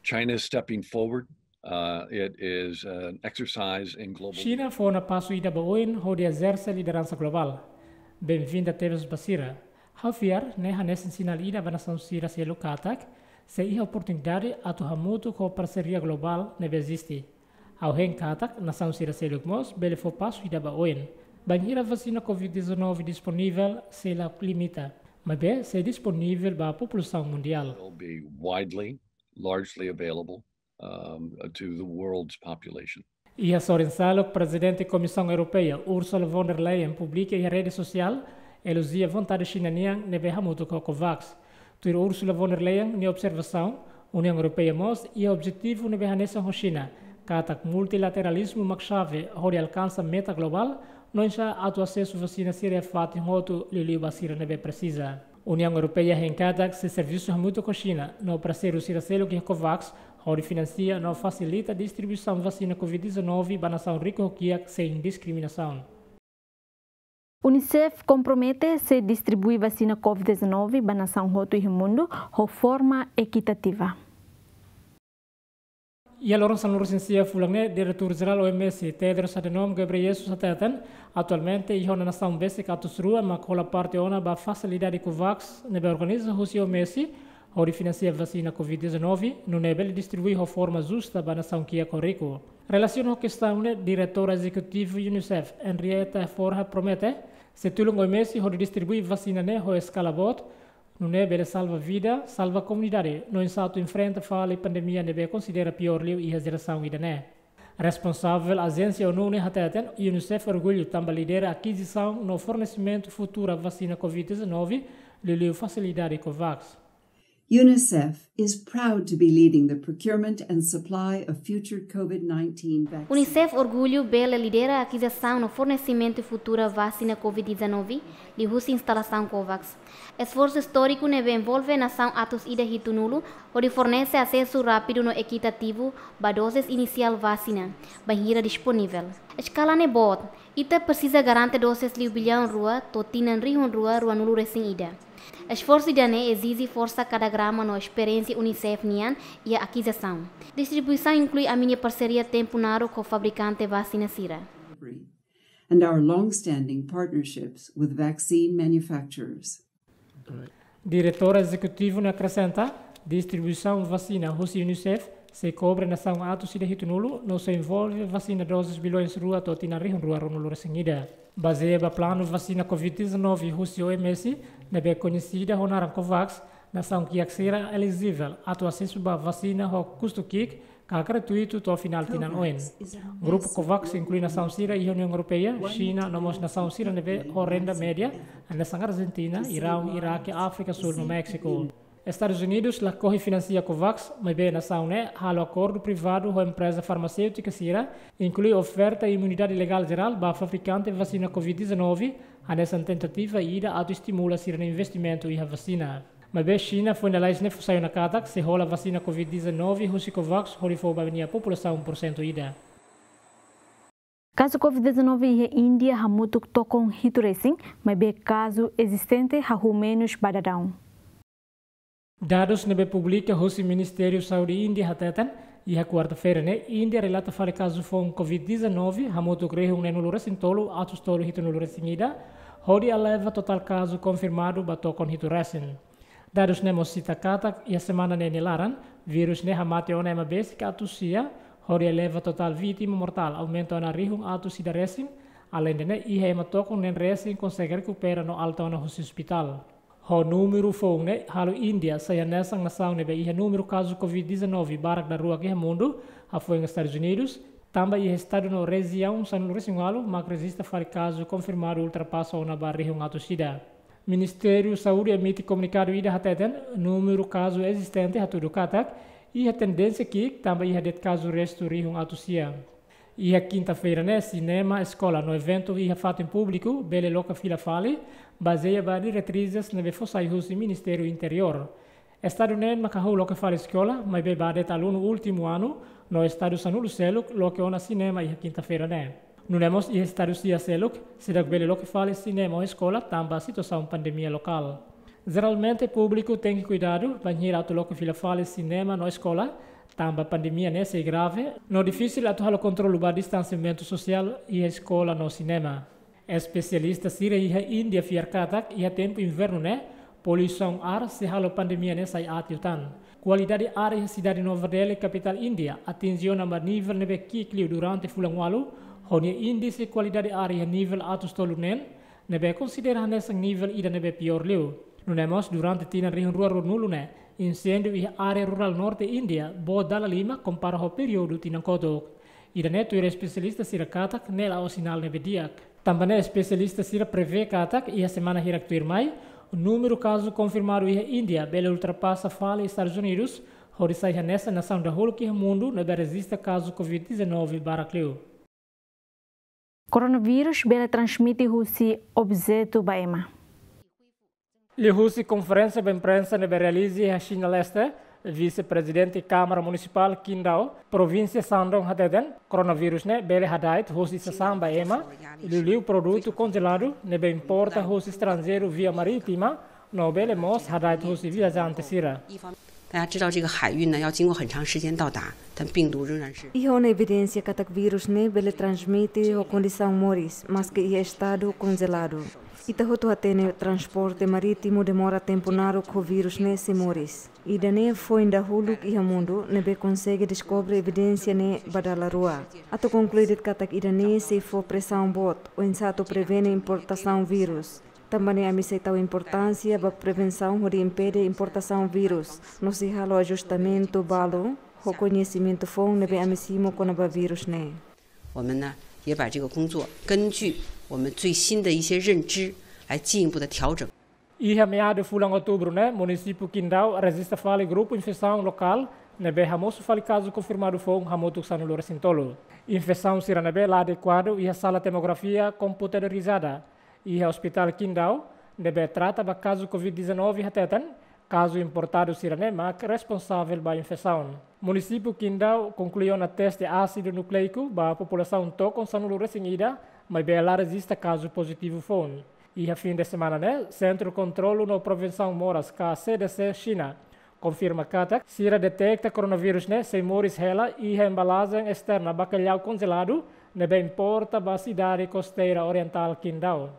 China is stepping forward. Uh, it is an exercise in global Xina fó ona pasu ida ba oin hodi ezerse lideransa globál. Benvinda tebes ba sira. Ha'u fiar ne'e hanesan sinál ida ba nasaun sira seluk katak, sei iha oportunidade atu hamutuk ho parseria globál ne'ebé eziste. Ha'u hein katak, nasaun sira seluk mós bele fó pasu ida ba oin. Bainhira vasina covid dezanove disponivel sei la limita, maibé sei disponivel ba populasaun mundiál. Will be widely, largely available, um, to the world's population. Iha sorin seluk, Prezidente Komisaun Europeia, Ursula von der Leyen, publika iha rede sosiál, elojia vontade Xina nian ne'ebé hamutuk ho COVAX. Tuir Ursula von der Leyen nia observasaun, Uniaun Europeia mós iha objetivu ne'ebé hanesan ho Xina, katak multilateralizmu mak xave hodi alkansa meta globál, no oinsá atu asesu vasina sira iha fatin hotu, liuliu ba sira ne'ebé presiza. Uniaun Europeia hein katak sei servisu hamutuk ho Xina no parseiru sira seluk iha COVAX, hodi finansia no fasilita distribuisaun vasina COVID dezanove ba nasaun riku ho kiak sein diskriminasaun. UNICEF kompromete sei distribui vasina COVID dezanove ba nasaun hotu iha mundu ho forma ekitativa. Iha loron sanulu-resin-sia fulan ne'e, Diretór Jerál OMS, Tedros Adhanom Ghebreyesus, hateten, atualmente iha ona nasaun besik atus rua mak hola parte ona ba fasilidade COVAX ne'ebé organiza husi OMS, hodi finansia vasina COVID dezanove, nune'e bele distribui ho forma justa ba nasaun kiak ho riku. Relasiona ho kestaun ne'e, Diretora Ezekutiva UNICEF, Henrietta Fore, promete sei tulun OMS hodi distribui vasina ne'e ho eskala boot, nune'e bele salva vida, salva komunidade, no oinsá atu enfrenta fali pandemia ne'ebé konsidera piór liu iha jerasaun ida-ne'e. Responsavel ajénsia ONU ne'e hateten, UNICEF orgullu tanba lidera akizisaun no fornesimentu futura vasina COVID dezanove, liuliu fasilidade COVAX. UNICEF is proud to be leading the procurement and supply of future COVID nineteen vaccines. UNICEF orgullu bele lidera akizisaun no fornesimentu futura vasina COVID dezanove, liuhusi instalasaun COVAX. Esforsu istóriku ne'ebé envolve nasaun atus ida hitunulu, hodi fornese asesu rápidu no ekitativu ba doses inisiál vasina, bainhira disponivel. Eskala ne'e boot, ita presiza garante doses liu billaun rua to'o tinan rihun rua ruanulu-resin-ida. Esforsu ida-ne'e ezije forsa kadagrama no esperiénsia UNICEF nian iha akizisaun. Distribuisaun inklui ami-nia parseria tempu naruk ho fabrikante vasina sira. And our long-standing partnerships with vaccine manufacturers. Diretór Ezekutivu ne'e akresenta, distribuisaun vasina husi UNICEF sei kobre nasaun atus ida hitunulu, no sei envolve vasina doses billaun rua to'o tinan rihun rua ruanulu-resin-ida. Bazeia ba planu vasina COVID dezanove husi OMS, ne'ebé koñesida ho naran COVAX, nasaun kiak sira elijivel atu asesu ba vasina ho kustu ki'ik ka gratuitu to'o finál tinan oin. Grupu COVAX inklui nasaun sira iha Uniaun Europeia, Xina, no mós nasaun sira ne'ebé ho renda média, hanesan Arjentina, Iraun, Iraque, Áfrika Súl no Méxiku. Estadus Unidus lakohi finansia COVAX, maibé nasaun ne'e halo akordu privadu ho empreza farmaséutika sira, inklui oferta imunidade legál jerál ba fabrikante vasina COVID dezanove, hanesan tentativa ida atu estimula sira-nia investimentu iha vasina. Maibé Xina foin lalais ne'e fó sai ona katak sei hola vasina COVID dezanove husi COVAX hodi fó ba nia populasaun porsentu ida. Kazu COVID dezanove iha Índia hamutuk tokon hitu resin, maibé kazu ezistente hahú menus ba daudaun. Dadus ne'ebé publika husi Ministériu Saúde Índia hateten, iha kuarta-feira ne'e, Índia relata fali kazu foun COVID dezanove hamutuk rihun neenulu-resin-tolu atus tolu hitunulu-resin-ida, hodi eleva totál kazu konfirmadu ba tokon hitu resin. Dadus ne'e mós sita katak, iha semana ne'e nia laran, vírus ne'e hamate ona ema besik atus sia, hodi eleva totál vítima mortál aumenta ona rihun atus ida resin, aleinde ne'e iha ema tokon neen resin konsege rekupera no alta ona husi ospitál. Ho númeru foun ne'e halo Índia sai hanesan nasaun ne'ebé iha númeru kazu COVID dezanove barak daruak iha mundu, hafoin Estadus Unidus, tanba iha estadu no rejiaun sanulu-resin-ualu mak rejista fali kazu konfirmadu ultrapasa ona ba rihun atus ida. Ministériu Saúde emite komunikadu ida hateten, númeru kazu ezistente hatudu katak iha tendénsia ki'ik tanba iha de'it kazu restu rihun atus sia. Iha kinta-feira ne'e, sinema, eskola no eventu iha fatin públiku bele loke fila fali, bazeia ba diretrizes ne'ebé fó sai husi Ministériu Interiór. Estadu neen mak hahú loke fali eskola, maibé ba de'it alunu últimu anu, no estadu sanulu seluk loke ona sinema iha kinta-feira ne'e. Nune'e mós iha estadu sia seluk, seidauk bele loke fali sinema ou eskola tanba situasaun pandemia lokál. Jeralmente, públiku tenke kuidadu bainhira atu loke fila fali sinema no eskola, tanba pandemia ne'e sei grave, no difisil atu halo kontrolu ba distansiamentu sosiál iha eskola no sinema. Espesialista sira iha Índia fiar katak, iha tempu invernu ne'e, poluisaun ár sei halo pandemia ne'e sai aat liután. Kualidade ár iha sidade Nova Delhi, kapitál Índia, atinje ona ba nivel ne'ebé ki'ik liu durante fulan ualu, ho nia índise kualidade ár iha nivel atus tolu neen, ne'ebé konsidera hanesan nivel ida ne'ebé piór liu. Nune'e mós durante tinan rihun rua ruanulu ne'e, inséndiu iha área rurál norte Índia boot dala lima kompara ho períodu tinan kotuk. Ida-ne'e tuir espesialista sira katak ne'e la'ós sinál ne'ebé di'ak. Tanba ne'e espesialista sira prevee katak iha semana hirak tuirmai, númeru kazu konfirmadu iha Índia bele ultrapasa fali Estadus Unidus, hodi sai hanesan nasaun dahuluk iha mundu ne'ebé rejista kazu covid dezanove barak liu. Koronavírus bele transmite husi objetu ba ema. Liuhusi konferénsia ba imprensa ne'ebé realiza iha Xina Leste, Vise-Prezidente Kámara Munisipál Qingdao, Provínsia Shandong hateten, koronavírus ne'e bele hada'et husi sasán ba ema, liuliu produtu konjeladu ne'ebé importa husi estranjeiru via marítima, no bele mós hada'et husi viajante sira. 大家知道这个海运呢，要经过很长时间到达，但病毒仍然是。 Iha ona evidénsia katak vírus ne'e bele transmite ho kondisaun moris, maske iha estadu konjeladu. Ita hotu hatene transporte marítimu demora tempu naruk ho vírus ne'e sei moris. Ida-ne'e foin dahuluk iha mundu ne'ebé konsege deskobre evidénsia ne'e ba dala rua. Atu konklui de'it katak ida-ne'e sei fó presaun boot oinsá atu prevene importasaun vírus. Tanba ne'e ami sei tau importánsia ba prevensaun hodi impede importasaun vírus, no sei halo ajustamentu balu ho koñesimentu foun ne'ebé ami simu kona-ba vírus ne'e. 我们呢，也把这个工作根据我们最新的一些认知来进一步的调整。 Iha meadu fulan Outubru ne'e, munisípiu Qingdao rejista fali grupu infesaun lokál ne'ebé hamosu fali kazu konfirmadu foun hamutuk sanulu resin tolu. Infesaun sira ne'ebé la adekuadu iha sala tomografia komputadorizada iha Ospitál Qingdao ne'ebé trata ba kazu covid dezanove hateten, kazu importadu sira ne'e mak responsavel ba infesaun. Munisípiu Qingdao konklui ona teste ásidu nukleiku ba populasaun tokon sanulu resin ida, maibé la rejista kazu pozitivu foun. Iha fin de semana ne'e, Sentru Kontrolu no Prevensaun Moras ka C D C Xina konfirma katak sira deteta koronavírus ne'e sei moris hela iha embalajen esterna bakallau konjeladu ne'ebé importa ba sidade kosteira orientál Qingdao.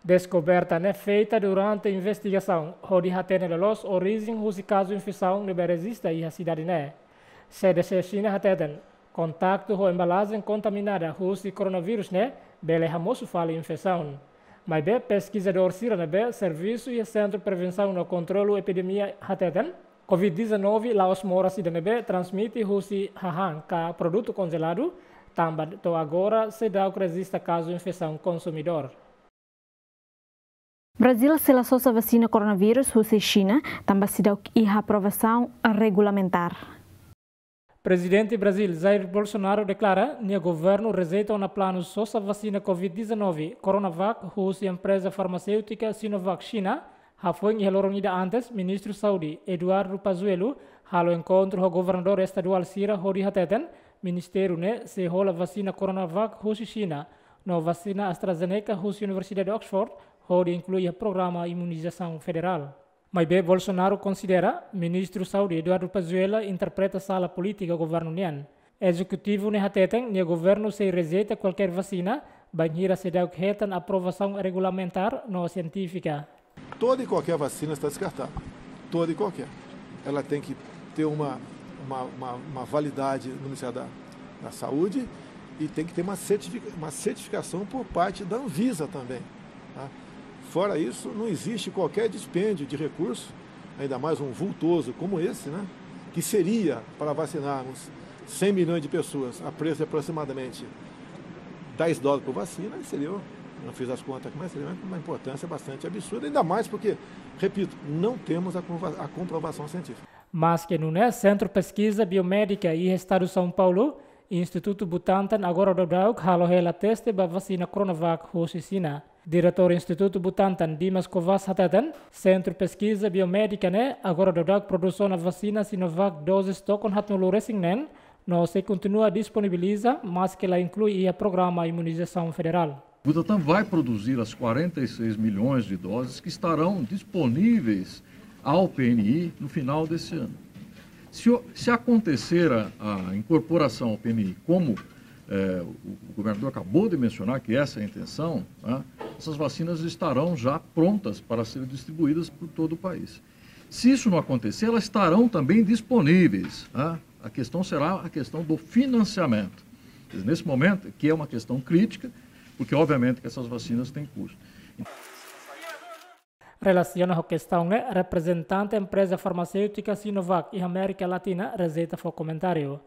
Deskoberta ne'e feita durante investigasaun hodi hatene loloos orijen husi kazu infesaun ne'ebé rejista iha sidade ne'e. C D C Xina hateten, kontaktu ho embalajen kontaminada husi koronavírus ne'e bele hamosu fali infesaun. Maibé peskizadór sira ne'ebé servisu iha Sentru Prevensaun no Kontrolu Epidemia hateten, covid dezanove la'ós moras ida ne'ebé transmite husi hahán ka produtu konjeladu, tanba to'o agora seidauk rejista kazu infesaun konsumidór. Brazil sela sosa vasina koronavírus husi Xina, tanba seidauk iha aprovasaun regulamentár. Prezidente Brazil Jair Bolsonaro deklara nia governu rejeita ona planu sosa vasina covid dezanove Coronavac husi empreza farmaséutika Sinovac Xina. Hafoin iha loron ida antes, Ministru Saúde Eduardo Pazuello halo enkontru ho governadór estaduál sira hodi hateten, ministériu ne'e sei hola vasina Coronavac husi Xina, no vasina AstraZeneca husi Universidade Oxford, hodi inklui iha programa imunizasaun federál. Maibé Bolsonaro konsidera Ministru Saúde Eduardo Pazuello interpreta sala polítika governu nian. Ezekutivu ne'e hateten nia governu sei rejeita kualkér vasina, bainhira seidauk hetan aprovasaun regulamentár no sientífika. Toda e qualquer vacina está descartada. Toda e qualquer. Ela tem que ter uma, uma, uma, uma validade no Ministério da, da Saúde e tem que ter uma, certifica, uma certificação por parte da Anvisa também. Tá? Fora isso, não existe qualquer dispêndio de recurso, ainda mais um vultoso como esse, né, que seria para vacinarmos cem milhões de pessoas a preço de aproximadamente dez dólares por vacina, seria, não fiz as contas, mas seria uma importância bastante absurda, ainda mais porque, repito, não temos a, a comprovação científica. Maske nune'e, Sentru Peskiza Biomédika iha Estadu São Paulo, Institutu Butantan agora daudauk halo hela teste ba vasina Coronavac husi Xina. Diretór Institutu Butantan Dimas Covas hateten, Sentru Peskiza Biomédika ne'e agora daudauk produsaun vasina Sinovac dozes tokon haatnulu resin neen, no sei kontinua disponibiliza, maske la inklui iha programa imunizasaun federál. O Butantan vai produzir as quarenta e seis milhões de doses que estarão disponíveis ao P N I no final desse ano. Se, se acontecer a, a incorporação ao P N I, como é, o, o governador acabou de mencionar que essa é a intenção, né, essas vacinas estarão já prontas para serem distribuídas por todo o país. Se isso não acontecer, elas estarão também disponíveis, né? A questão será a questão do financiamento. Nesse momento, que é uma questão crítica, porque obviamente que essas vacinas têm custo. Relasiona ho kestaun ne'e, reprezentante empreza farmaséutika Sinovac iha Amérika Latina rejeita fó komentáriu.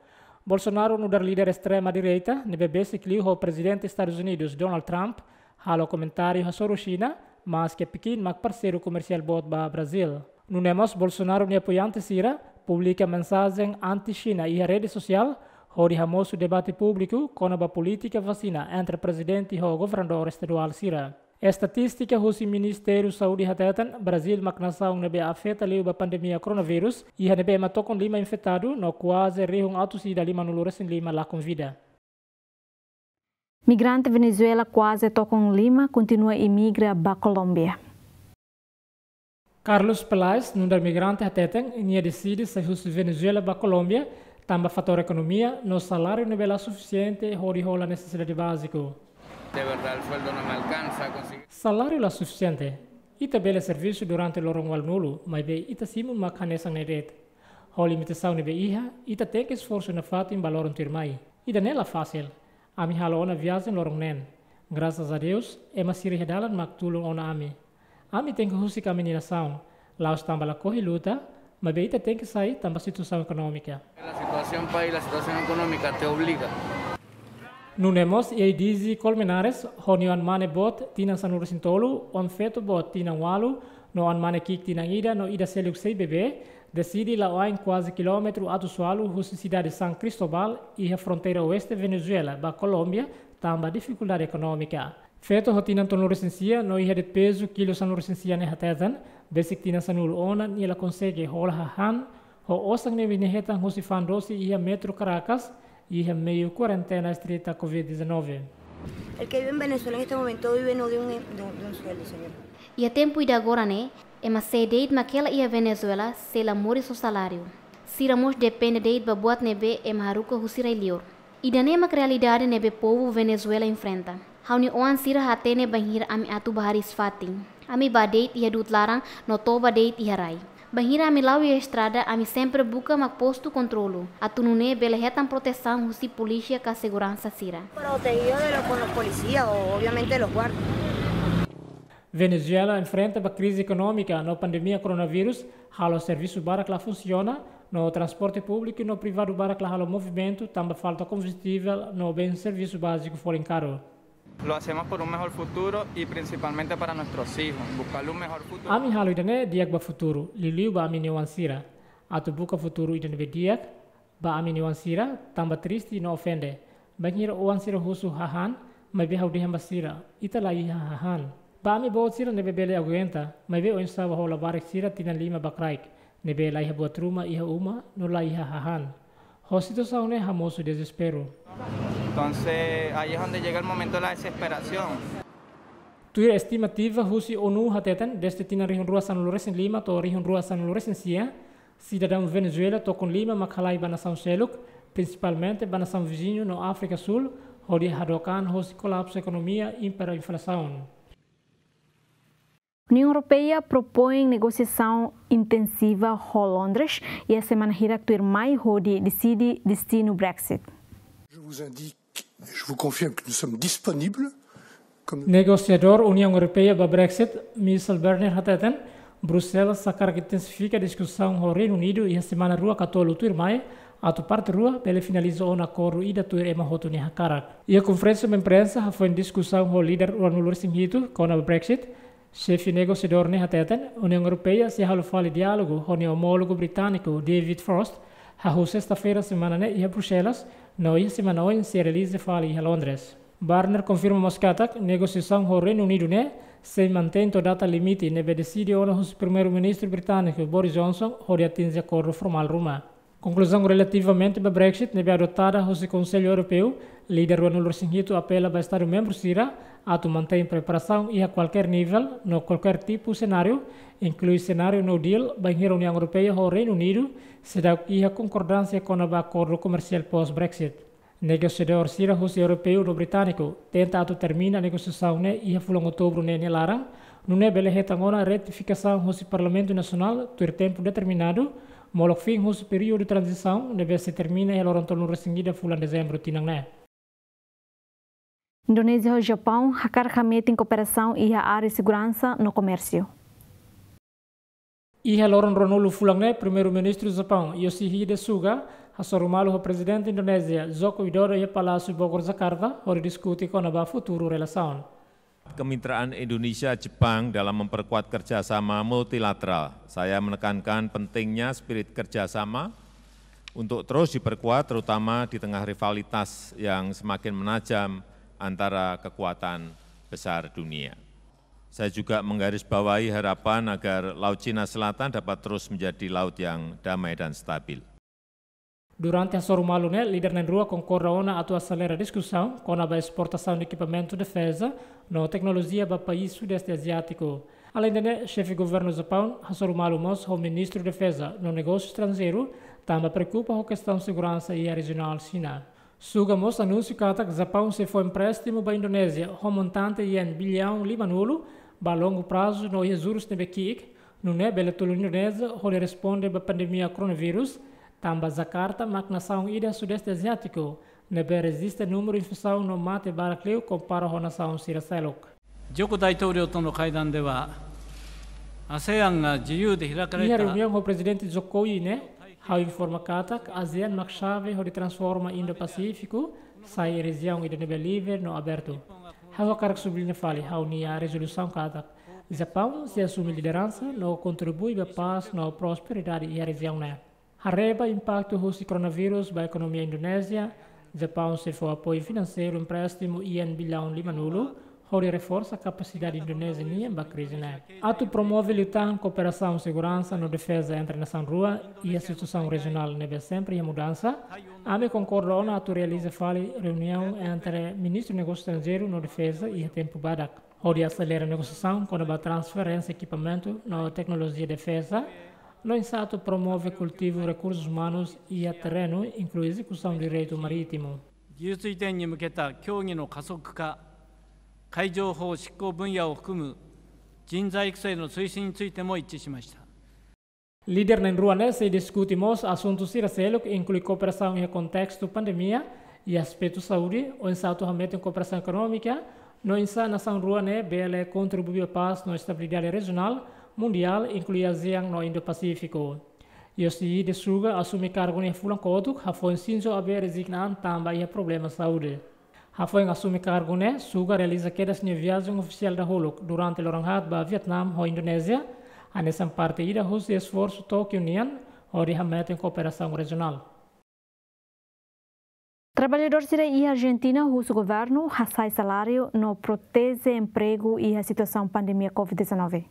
Bolsonaro nu'udar líder estrema direita ne'ebé besik liu ho Prezidente Estadus Unidus Donald Trump halo komentáriu hasoru Xina, maske Pekin mak parseiru komersiál boot ba Brazíl. Nune'e mós Bolsonaro nia apoiante sira publika mensajen anti-Xina iha rede sosiál, hodi hamosu debate públiku kona-ba polítika vasina entre prezidente ho governadór estaduál sira. Estatístika husi Ministériu Saúde hateten, Brazíl mak nasaun ne'ebé afeta liu ba pandemia koronavírus, iha ne'ebé ema tokon lima infetadu no kuaze rihun atus ida lima-nulu resin lima lakon vida. Migrante Venezuela kuaze tokon lima kontinua imigra ba Kolómbia. Carlos Peláez, nu'udar migrante hateten, nia deside sai husi Venezuela ba Kolómbia, tanba fatór ekonomia no saláriu ne'ebé la sufisiente hodi hola nesesidade báziku. De verdad, el sueldo no me alcanza a conseguir. Saláriu la sufisiente. Ita bele servisu durante loron ualunulu, maibé ita simu mak hanesan ne'e de'it. Ho limitasaun ne'ebé iha, ita tenke esforsu nafatin ba loron tuirmai. Ida-ne'e la fasil. Ami halo ona viajen loron neen. Grasas a Deus, ema sira iha dalan mak tulun ona ami. Ami tenke husik ami-nia nasaun, la'ós tanba lakohi luta, maibé ita tenke sai tanba situasaun ekonómika. La situación país, la situación económica te obliga. Nune'e mós Eidize Colmenares, ho nia oan-mane boot tinan sanulu resin tolu, oan-feto boot tinan ualu, no oan-mane ki'ik tinan ida no ida seluk sei bebé, deside la'o ain kuaze kilómetru atus ualu husi sidade San Cristóbal, iha fronteira oeste Venezuela, ba Kolómbia, tanba difikuldade ekonómika. Feto ho tinan tolunulu resin sia no iha de'it pezu kilu sanulu resin sia ne'e hateten, besik tinan sanulu ona nia la konsege hola hahán, ho osan ne'ebé nia hetan husi fa'an dosi iha Metro Caracas, iha meiu kuarentena estrita covid dezanove. El que vive en Venezuela en este momento vive no de un, de un, de un sueldo, señor. Iha tempu ida agora ne'e, ema sé de'it mak hela iha Venezuela sei la moris ho saláriu. Sira mós depende de'it ba buat ne'ebé ema haruka husi rai-liur. Ida-ne'e mak realidade ne'ebé povu Venezuela enfrenta. Ha'u-nia oan sira hatene bainhira ami atu bá hariis fatin. Ami bá de'it iha du'ut laran no toba de'it iha rai. Bainhira ami la'o iha estrada, ami sempre buka mak postu kontrolu, atu nune'e bele hetan protesaun husi polísia ka seguransa sira. Protegido de los, con los policías o obviamente de los guardias. Venezuela enfrenta ba krize ekonómika no pandemia koronavírus, halo servisu barak la funsiona, no transporte públiku no privadu barak la halo movimentu, tanba falta kombustivel no bens servisu báziku folin karu. Lo hacemos por un mejor futuro y principalmente para nuestros hijos, buscarle un mejor futuro. Ami halo ida-ne'e di'ak ba futuru, liuliu ba ami-nia oan sira. Atu buka futuru ida ne'ebé di'ak ba ami-nia oan sira, tanba triste no ofende. Bainhira oan sira husu hahán, maibé ha'u dehan ba sira, ita la iha hahán. Ba ami boot sira ne'ebé bele aguenta, maibé oinsá bá ho labarik sira tinan lima ba kraik, ne'ebé la iha buat ruma iha uma, no la iha hahán. Ho situasaun ne'e hamosu dezesperu. Entonces, ahí es donde llega el momento de la desesperación. Tuir estimativa husi ONU hateten, desde tinan rihun rua sanulu resin lima to'o rihun rua sanulu resin sia, sidadaun Venezuela tokon lima mak halai ba nasaun seluk, prinsipalmente ba nasaun viziñu no Áfrika Súl, hodi hadook an hosi kolapsu ekonomia, impera inflasaun. Uniaun Europeia propoin negosiasaun intensiva ho Londres iha semana hirak tuirmai hodi deside destinu Brexit. Je vous indique, je vous confirme que nous sommes disponibles, comme... Negosiadór Uniaun Europeia ba Brexit, Michel Barnier hateten, Bruxelas hakarak intensifika diskusaun ho Reinu Unidu iha semana rua ka tolu tuirmai, atu parte rua bele finaliza ona akordu ida tuir ema hotu nia hakarak. Iha konferénsia imprensa hafoin diskusaun ho líder ruanulu resin hitu kona-ba Brexit, xefe negosiadór ne'e hateten, Uniaun Europeia sei halo fali diálogu ho nia omólogu britániku David Frost, hahú sesta-feira semana ne'e iha Bruxelas, no iha semana oin sei realiza fali iha Londres. Barnier konfirma mós katak negosiasaun ho Reinu Unidu ne'e sei mantein to'o data limite ne'ebé deside ona husi Primeiru-Ministru britániku Boris Johnson hodi atinje akordu formál ruma. Konkluzaun relativamente ba Brexit ne'ebé adotada husi Konsellu Europeu, líder ruanulu resin hitu apela ba Estadu membru sira atu mantein preparasaun iha kualkér nivel no kualkér tipu senáriu, inklui senáriu no deal, bainhira Uniaun Europeia ho Reinu Unidu seidauk iha konkordánsia kona-ba akordu komersiál pós-Brexit. Negosiadór sira husi Europeu no Britániku tenta atu termina negosiasaun ne'e iha fulan Outubru ne'e nia laran, nune'e bele hetan ona ratifikasaun husi Parlamentu Nasionál tuir tempu determinadu, molok fin husi períodu tranzisaun ne'ebé sei termina iha loron tolunulu resin ida fulan Dezembru tinan ne'e. Indonézia ho Japaun hakarak hametin kooperasaun iha área seguransa no komérsiu. Iha loron ruanulu fulan ne'e, Primeiru-Ministru Japaun, Yoshihide Suga, Hasoru malu ho Prezidente Indonézia, Joko Widodo, iha Palásiu Bogor, Jakarta, hodi diskute kona-ba futuru relasaun. Kemitraan Indonesia-Jepang dalam memperkuat kerjasama multilateral. Saya menekankan pentingnya spirit kerjasama untuk terus diperkuat, terutama di tengah rivalitas yang semakin menajam antara kekuatan besar dunia. Saya juga menggarisbawahi harapan agar Laut Cina Selatan dapat terus menjadi laut yang damai dan stabil. Durante hasoru malu ne'e, líder na'in-rua konkorda ona atu aselera diskusaun kona-ba esportasaun ekipamentu defeza no teknolojia ba país Sudeste Aziátiku. Aleinde ne'e, xefe governu Japaun hasoru malu mós ho Ministru Defeza no Negósiu Estranjeiru, tanba preokupa ho kestaun seguransa iha rejionál Xina. Suga mós anunsiu katak Japaun sei fó empréstimu ba Indonézia ho montante yen billaun lima-nulu ba longu prazu no iha jurus ne'ebé ki'ik, nune'e bele tulun Indonézia hodi responde ba pandemia koronavírus, tanba Jakarta mak nasaun ida Sudeste Aziátiku ne'ebé rejista númeru infesaun no mate barak liu kompara ho nasaun sira seluk. ジョコ大統領との会談では、アセアンが自由で開かれた Iha reuniaun ho Prezidente Jokowi ne'e, ha'u informa katak ASEAN mak xave hodi transforma Indo-Pasífiku sai rejiaun ida ne'ebé livre no abertu. Ha'u hakarak subliña fali ha'u-nia rezolusaun katak Japaun sei asume lideransa no kontribui ba pás no prosperidade iha rejiaun ne'e. Haree ba impaktu husi koronavírus ba ekonomia Indonézia, Japaun sei fó apoiu finanseiru empréstimu yen billaun lima-nulu, hodi reforsa kapasidade Indonézia nian ba krize ne'e. Atu promove liután kooperasaun seguransa no defeza entre nasaun rua iha situasaun rejionál ne'ebé sempre iha mudansa, ami konkorda ona atu realiza fali reuniaun entre Ministru Negósiu Estranjeiru no Defeza iha tempu badak, hodi aselera negosiasaun kona-ba transferénsia ekipamentu no teknolojia defeza, no oinsá atu promove kultivu rekursus umanus iha terrenu, inklui ezekusaun direitu marítimu. 技術移転に向けた協議の加速化、海上法執行分野を含む人材育成の推進についても一致しました。 Líder na'in-rua ne'e sei diskute mós asuntu sira seluk, inklui kooperasaun iha kontestu pandemia, iha aspetu saúde, oinsá atu hametin kooperasaun ekonómika, no oinsá nasaun rua ne'e bele kontribui ba pás no estabilidade rejionál, mundiál, inklui ASEAN no Indo-Pasífiku. Yoshihide Suga asume kargu ne'e fulan kotuk, hafoin Shinzo Abe rezigna an tanba iha problema saúde. Hafoin asume kargu ne'e, Suga realiza kedas nia viajen ofisiál dahuluk durante loron haat ba Vietnam ho Indonézia, hanesan parte ida husi esforsu Tókiu nian hodi hametin kooperasaun rejionál. Traballadór sira iha Arjentina husu governu hasa'e saláriu no proteje empregu iha situasaun pandemia covid dezanove.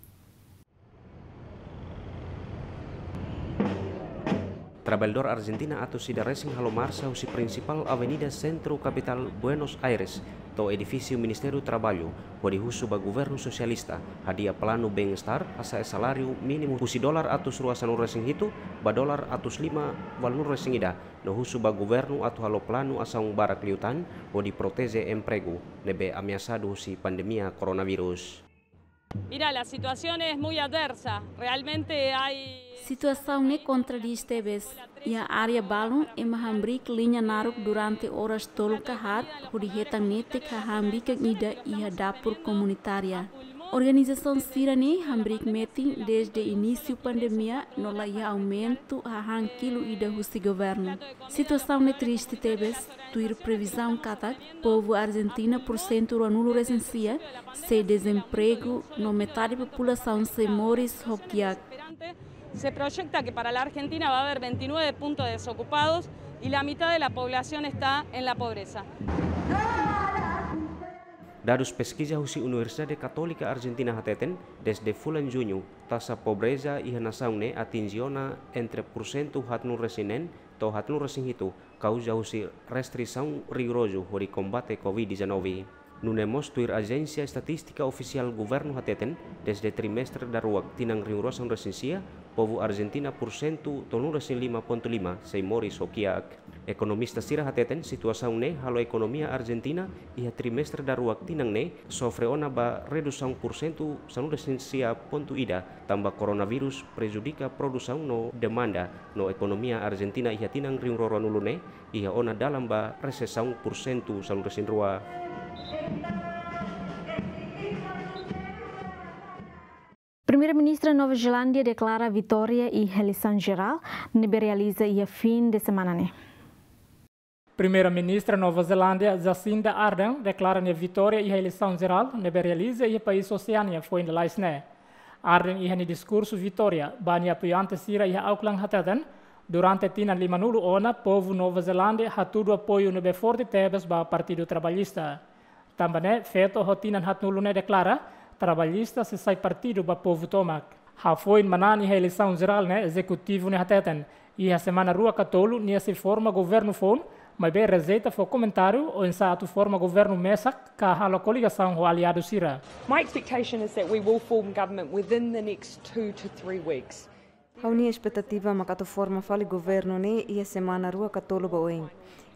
Traballadór Arjentina atus ida resin halo marsa husi prinsipál avenida sentru kapitál Buenos Aires to'o edifísiu Ministériu Traballu, hodi husu ba governu sosialista hadi'a planu bem-estar hasa'e saláriu mínimu husi dolar atus rua sanulu resin hitu ba dolar atus lima ualunulu resin ida, no husu ba governu atu halo planu asaun barak liután hodi proteje empregu ne'ebé ameasadu husi pandemia koronavírus. Mira, la situación es muy adversa. Realmente hay... Situasaun ne'e kontradís tebes. Iha área balun ema hamriik liña naruk durante oras tolu ka haat, hodi hetan netik hahán bikan ida iha dapur komunitária. Organizasaun sira-ne'e hamriik metin desde inísiu pandemia no la iha aumentu hahán kilu ida husi governu. Situasaun ne'e triste tebes, tuir previzaun katak povu Arjentina pursentu ruanulu resin sia sei dezempregu no metade populasaun sei moris ho kiak. Se proyecta que para la Argentina va a haber veintinueve puntos desocupados y la mitad de la población está en la pobreza. Dadus peskiza husi Universidade Katólika Arjentina hateten, desde fulan Juñu, taxa pobreza iha nasaun ne'e atinje ona entre pursentu haatnulu resin neen to'o haatnulu resin hitu, kauza husi restrisaun rigorozu hodi kombate covid dezanove. Nune'e mós tuir ajénsia estatístika ofisiál governu hateten, desde trimestre daruak tinan rihun rua sanulu resin sia, povu Arjentina pursentu tolunulu resin lima pontu lima sei moris ho kiak. Ekonomista sira hateten situasaun ne'e halo ekonomia Arjentina iha trimestre daruak tinan ne'e sofre ona ba redusaun pursentu sanulu resin sia pontu ida, tanba koronavírus prejudika produsaun no demanda, no ekonomia Arjentina iha tinan rihun rua ruanulu ne'e iha ona dalan ba resesaun pursentu sanulu resin rua. Primeira-Ministra Nova Zelándia deklara vitória iha eleisaun jerál ne'ebé realiza iha fim de semana ne'e. Primeira-Ministra Nova Zelándia, Jacinda Ardern, deklara nia vitória iha eleisaun jerál ne'ebé realiza iha país Oseánia foin lalais ne'e. Ardern iha nia diskursu vitória ba nia apoiante sira iha Auckland hateten, durante tinan limanulu ona, povu Nova Zelándia hatudu apoiu ne'ebé forte tebes ba Partidu Trabalhista. Tanba ne'e, feto ho tinan haatnulu ne'e deklara, Trabalhista sei sai partidu ba povu tomak. Hafoin manán iha eleisaun jerál ne'e, ezekutivu ne'e hateten, iha semana rua ka tolu nia sei forma governu foun, maibé rejeita fó komentáriu oinsá atu forma governu mesak ka halo koligasaun ho aliadu sira. My expectation is that we will form government within the next two to three weeks. Ha'u-nia espetativa mak atu forma fali governu ne'e iha semana rua ka tolu ba oin.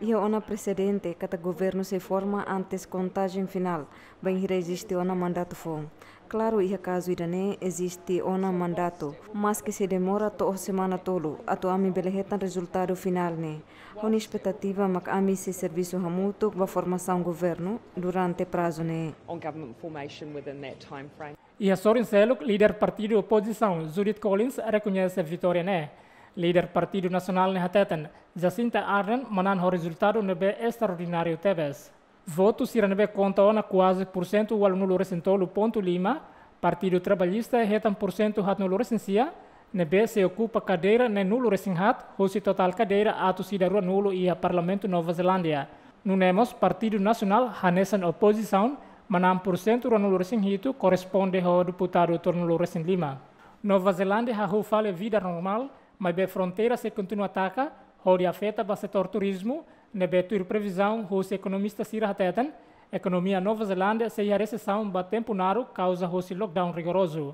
Iha ona presedente katak governu sei forma antes kontajen finál, bainhira eziste ona mandatu foun. Klaru, iha kazu ida-ne'e eziste ona mandatu, maske sei demora to'o semana tolu atu ami bele hetan rezultadu finál ne'e. Ha'u-nia espetativa mak ami sei servisu hamutuk ba formasaun governu durante prazu ne'e. On government formation within that time frame. Iha sorin seluk, líder partidu opozisaun, Judith Collins, rekoñese vitória ne'e. Líder Partidu Nasionál ne'e hateten, Jacinda Ardern manán ho rezultadu ne'ebé estraordináriu tebes. Votu sira ne'ebé konta ona kuaze pursentu ualunulu resin tolu pontu lima, Partidu Trabalhista hetan pursentu haatnulu resin sia, ne'ebé sei okupa kadeira neenulu resin haat, husi totál kadeira atus ida ruanulu iha Parlamentu Nova Zelándia. Nune'e mós Partidu Nasionál hanesan opozisaun, manán pursentu ruanulu resin hitu, korresponde ho deputadu tolunulu resin lima. Nova Zelándia hahú fali vida normál, maibé fronteira sei kontinua taka, hodi afeta ba setór turizmu, ne'ebé tuir previzaun husi ekonomista sira hateten, ekonomia Nova Zelándia sei iha resesaun ba tempu naruk kauza husi lockdown rigorozu.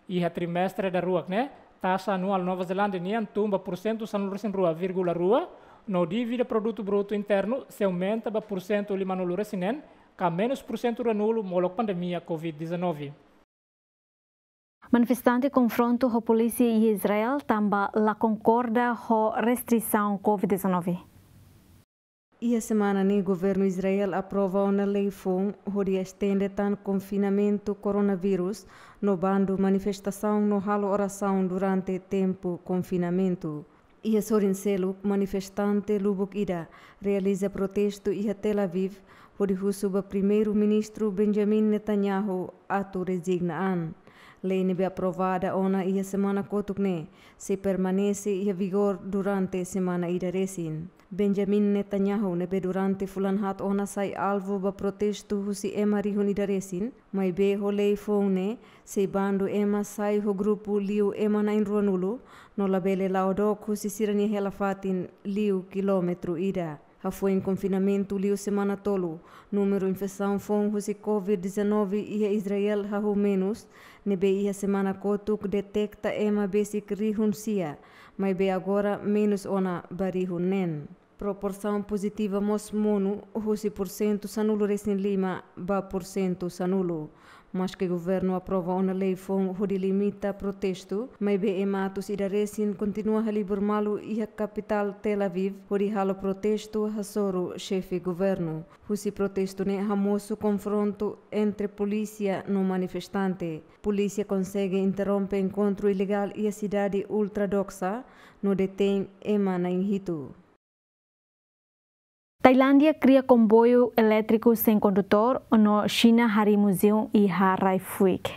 Iha trimestre daruak ne'e, taxa anuál Nova Zelándia nian tun ba pursentu sanulu resin rua vírgula rua, no dívida produtu brutu internu sei aumenta ba pursentu limanulu resin neen, ka menus pursentu ruanulu molok pandemia covid dezanove. Manifestante konfrontu ho polísia iha Israel tanba la konkorda ho restrisaun covid dezanove. Iha semana ne'e governu Israel aprova ona lei foun hodi estende tan konfinamentu koronavírus no bandu manifestasaun no halo orasaun durante tempu konfinamentu. Iha sorin seluk, manifestante lubuk ida realiza protestu iha Tel Aviv hodi husu ba Primeiru-Ministru Benjamin Netanyahu atu rezigna an. Lei ne'ebé aprovada ona iha semana kotuk ne'e sei permanese iha vigór durante semana ida resin. Benjamin Netanyahu, ne'ebé durante fulan haat ona sai alvu ba protestu husi ema rihun ida resin, maibé ho lei foun ne'e sei bandu ema sai ho grupu liu ema na'in ruanulu, no labele la'o dook husi sira-nia hela-fatin liu kilómetru ida. Hafoin konfinamentu liu semana tolu, númeru infesaun foun husi covid dezanove iha Israel hahú menus, ne'ebé iha semana kotuk deteta ema besik rihun sia, maibé agora menus ona ba rihun neen. Proporsaun pozitiva mós monu, husi pursentu sanulu resin lima ba pursentu sanulu. Maske governu aprova ona lei foun hodi limita protestu, maibé ema atus ida resin kontinua halibur malu iha kapitál Tel Aviv hodi halo protestu hasoru xefe governu. Husi protestu ne'e hamosu konfrontu entre polísia no manifestante. Polísia konsege interrompe enkontru ilegál iha sidade ultra-ortodoksa no detein ema na'in hitu. Tailándia kria komboiu elétriku sein kondutór no Xina harii muzeu iha rai-fuik.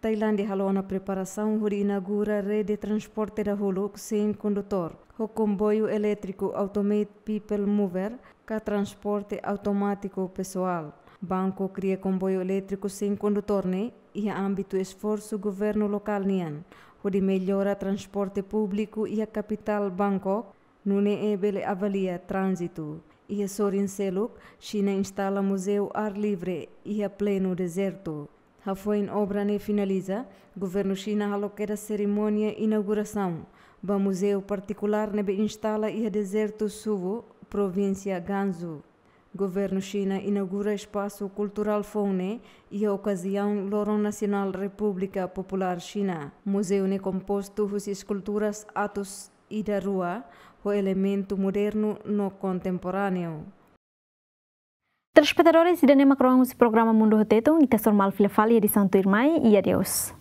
Tailándia halo ona preparasaun hodi inaugura rede transporte dahuluk sein kondutór, ho komboiu elétriku Automate People Mover, ka transporte automátiku pesoál. Bangkok kria komboiu elétriku sein kondutór ne'e iha ámbitu esforsu governu lokál nian hodi mellora transporte públiku iha kapitál Bangkok, nune'e bele avalia tránzitu. Iha sorin seluk, Xina instala muzeu ar livre iha plenu dezertu. Hafoin obra ne'e finaliza, governu Xina halo kedas serimónia inaugurasaun ba muzeu partikulár ne'ebé instala iha dezertu Suwu, provínsia Gansu. Governu Xina inaugura espasu kulturál foun ne'e iha okaziaun Loron Nasionál Repúblika Populár Xina. Muzeu ne'e kompostu husi eskulturas atus ida rua, ho elementu modernu no kontemporáneu. Telespetadores, ida-ne'e mak rohan husi programa Mundu ho Tetun, ita sei hasoru malu fila fali iha edisaun tuirmai, i adeus.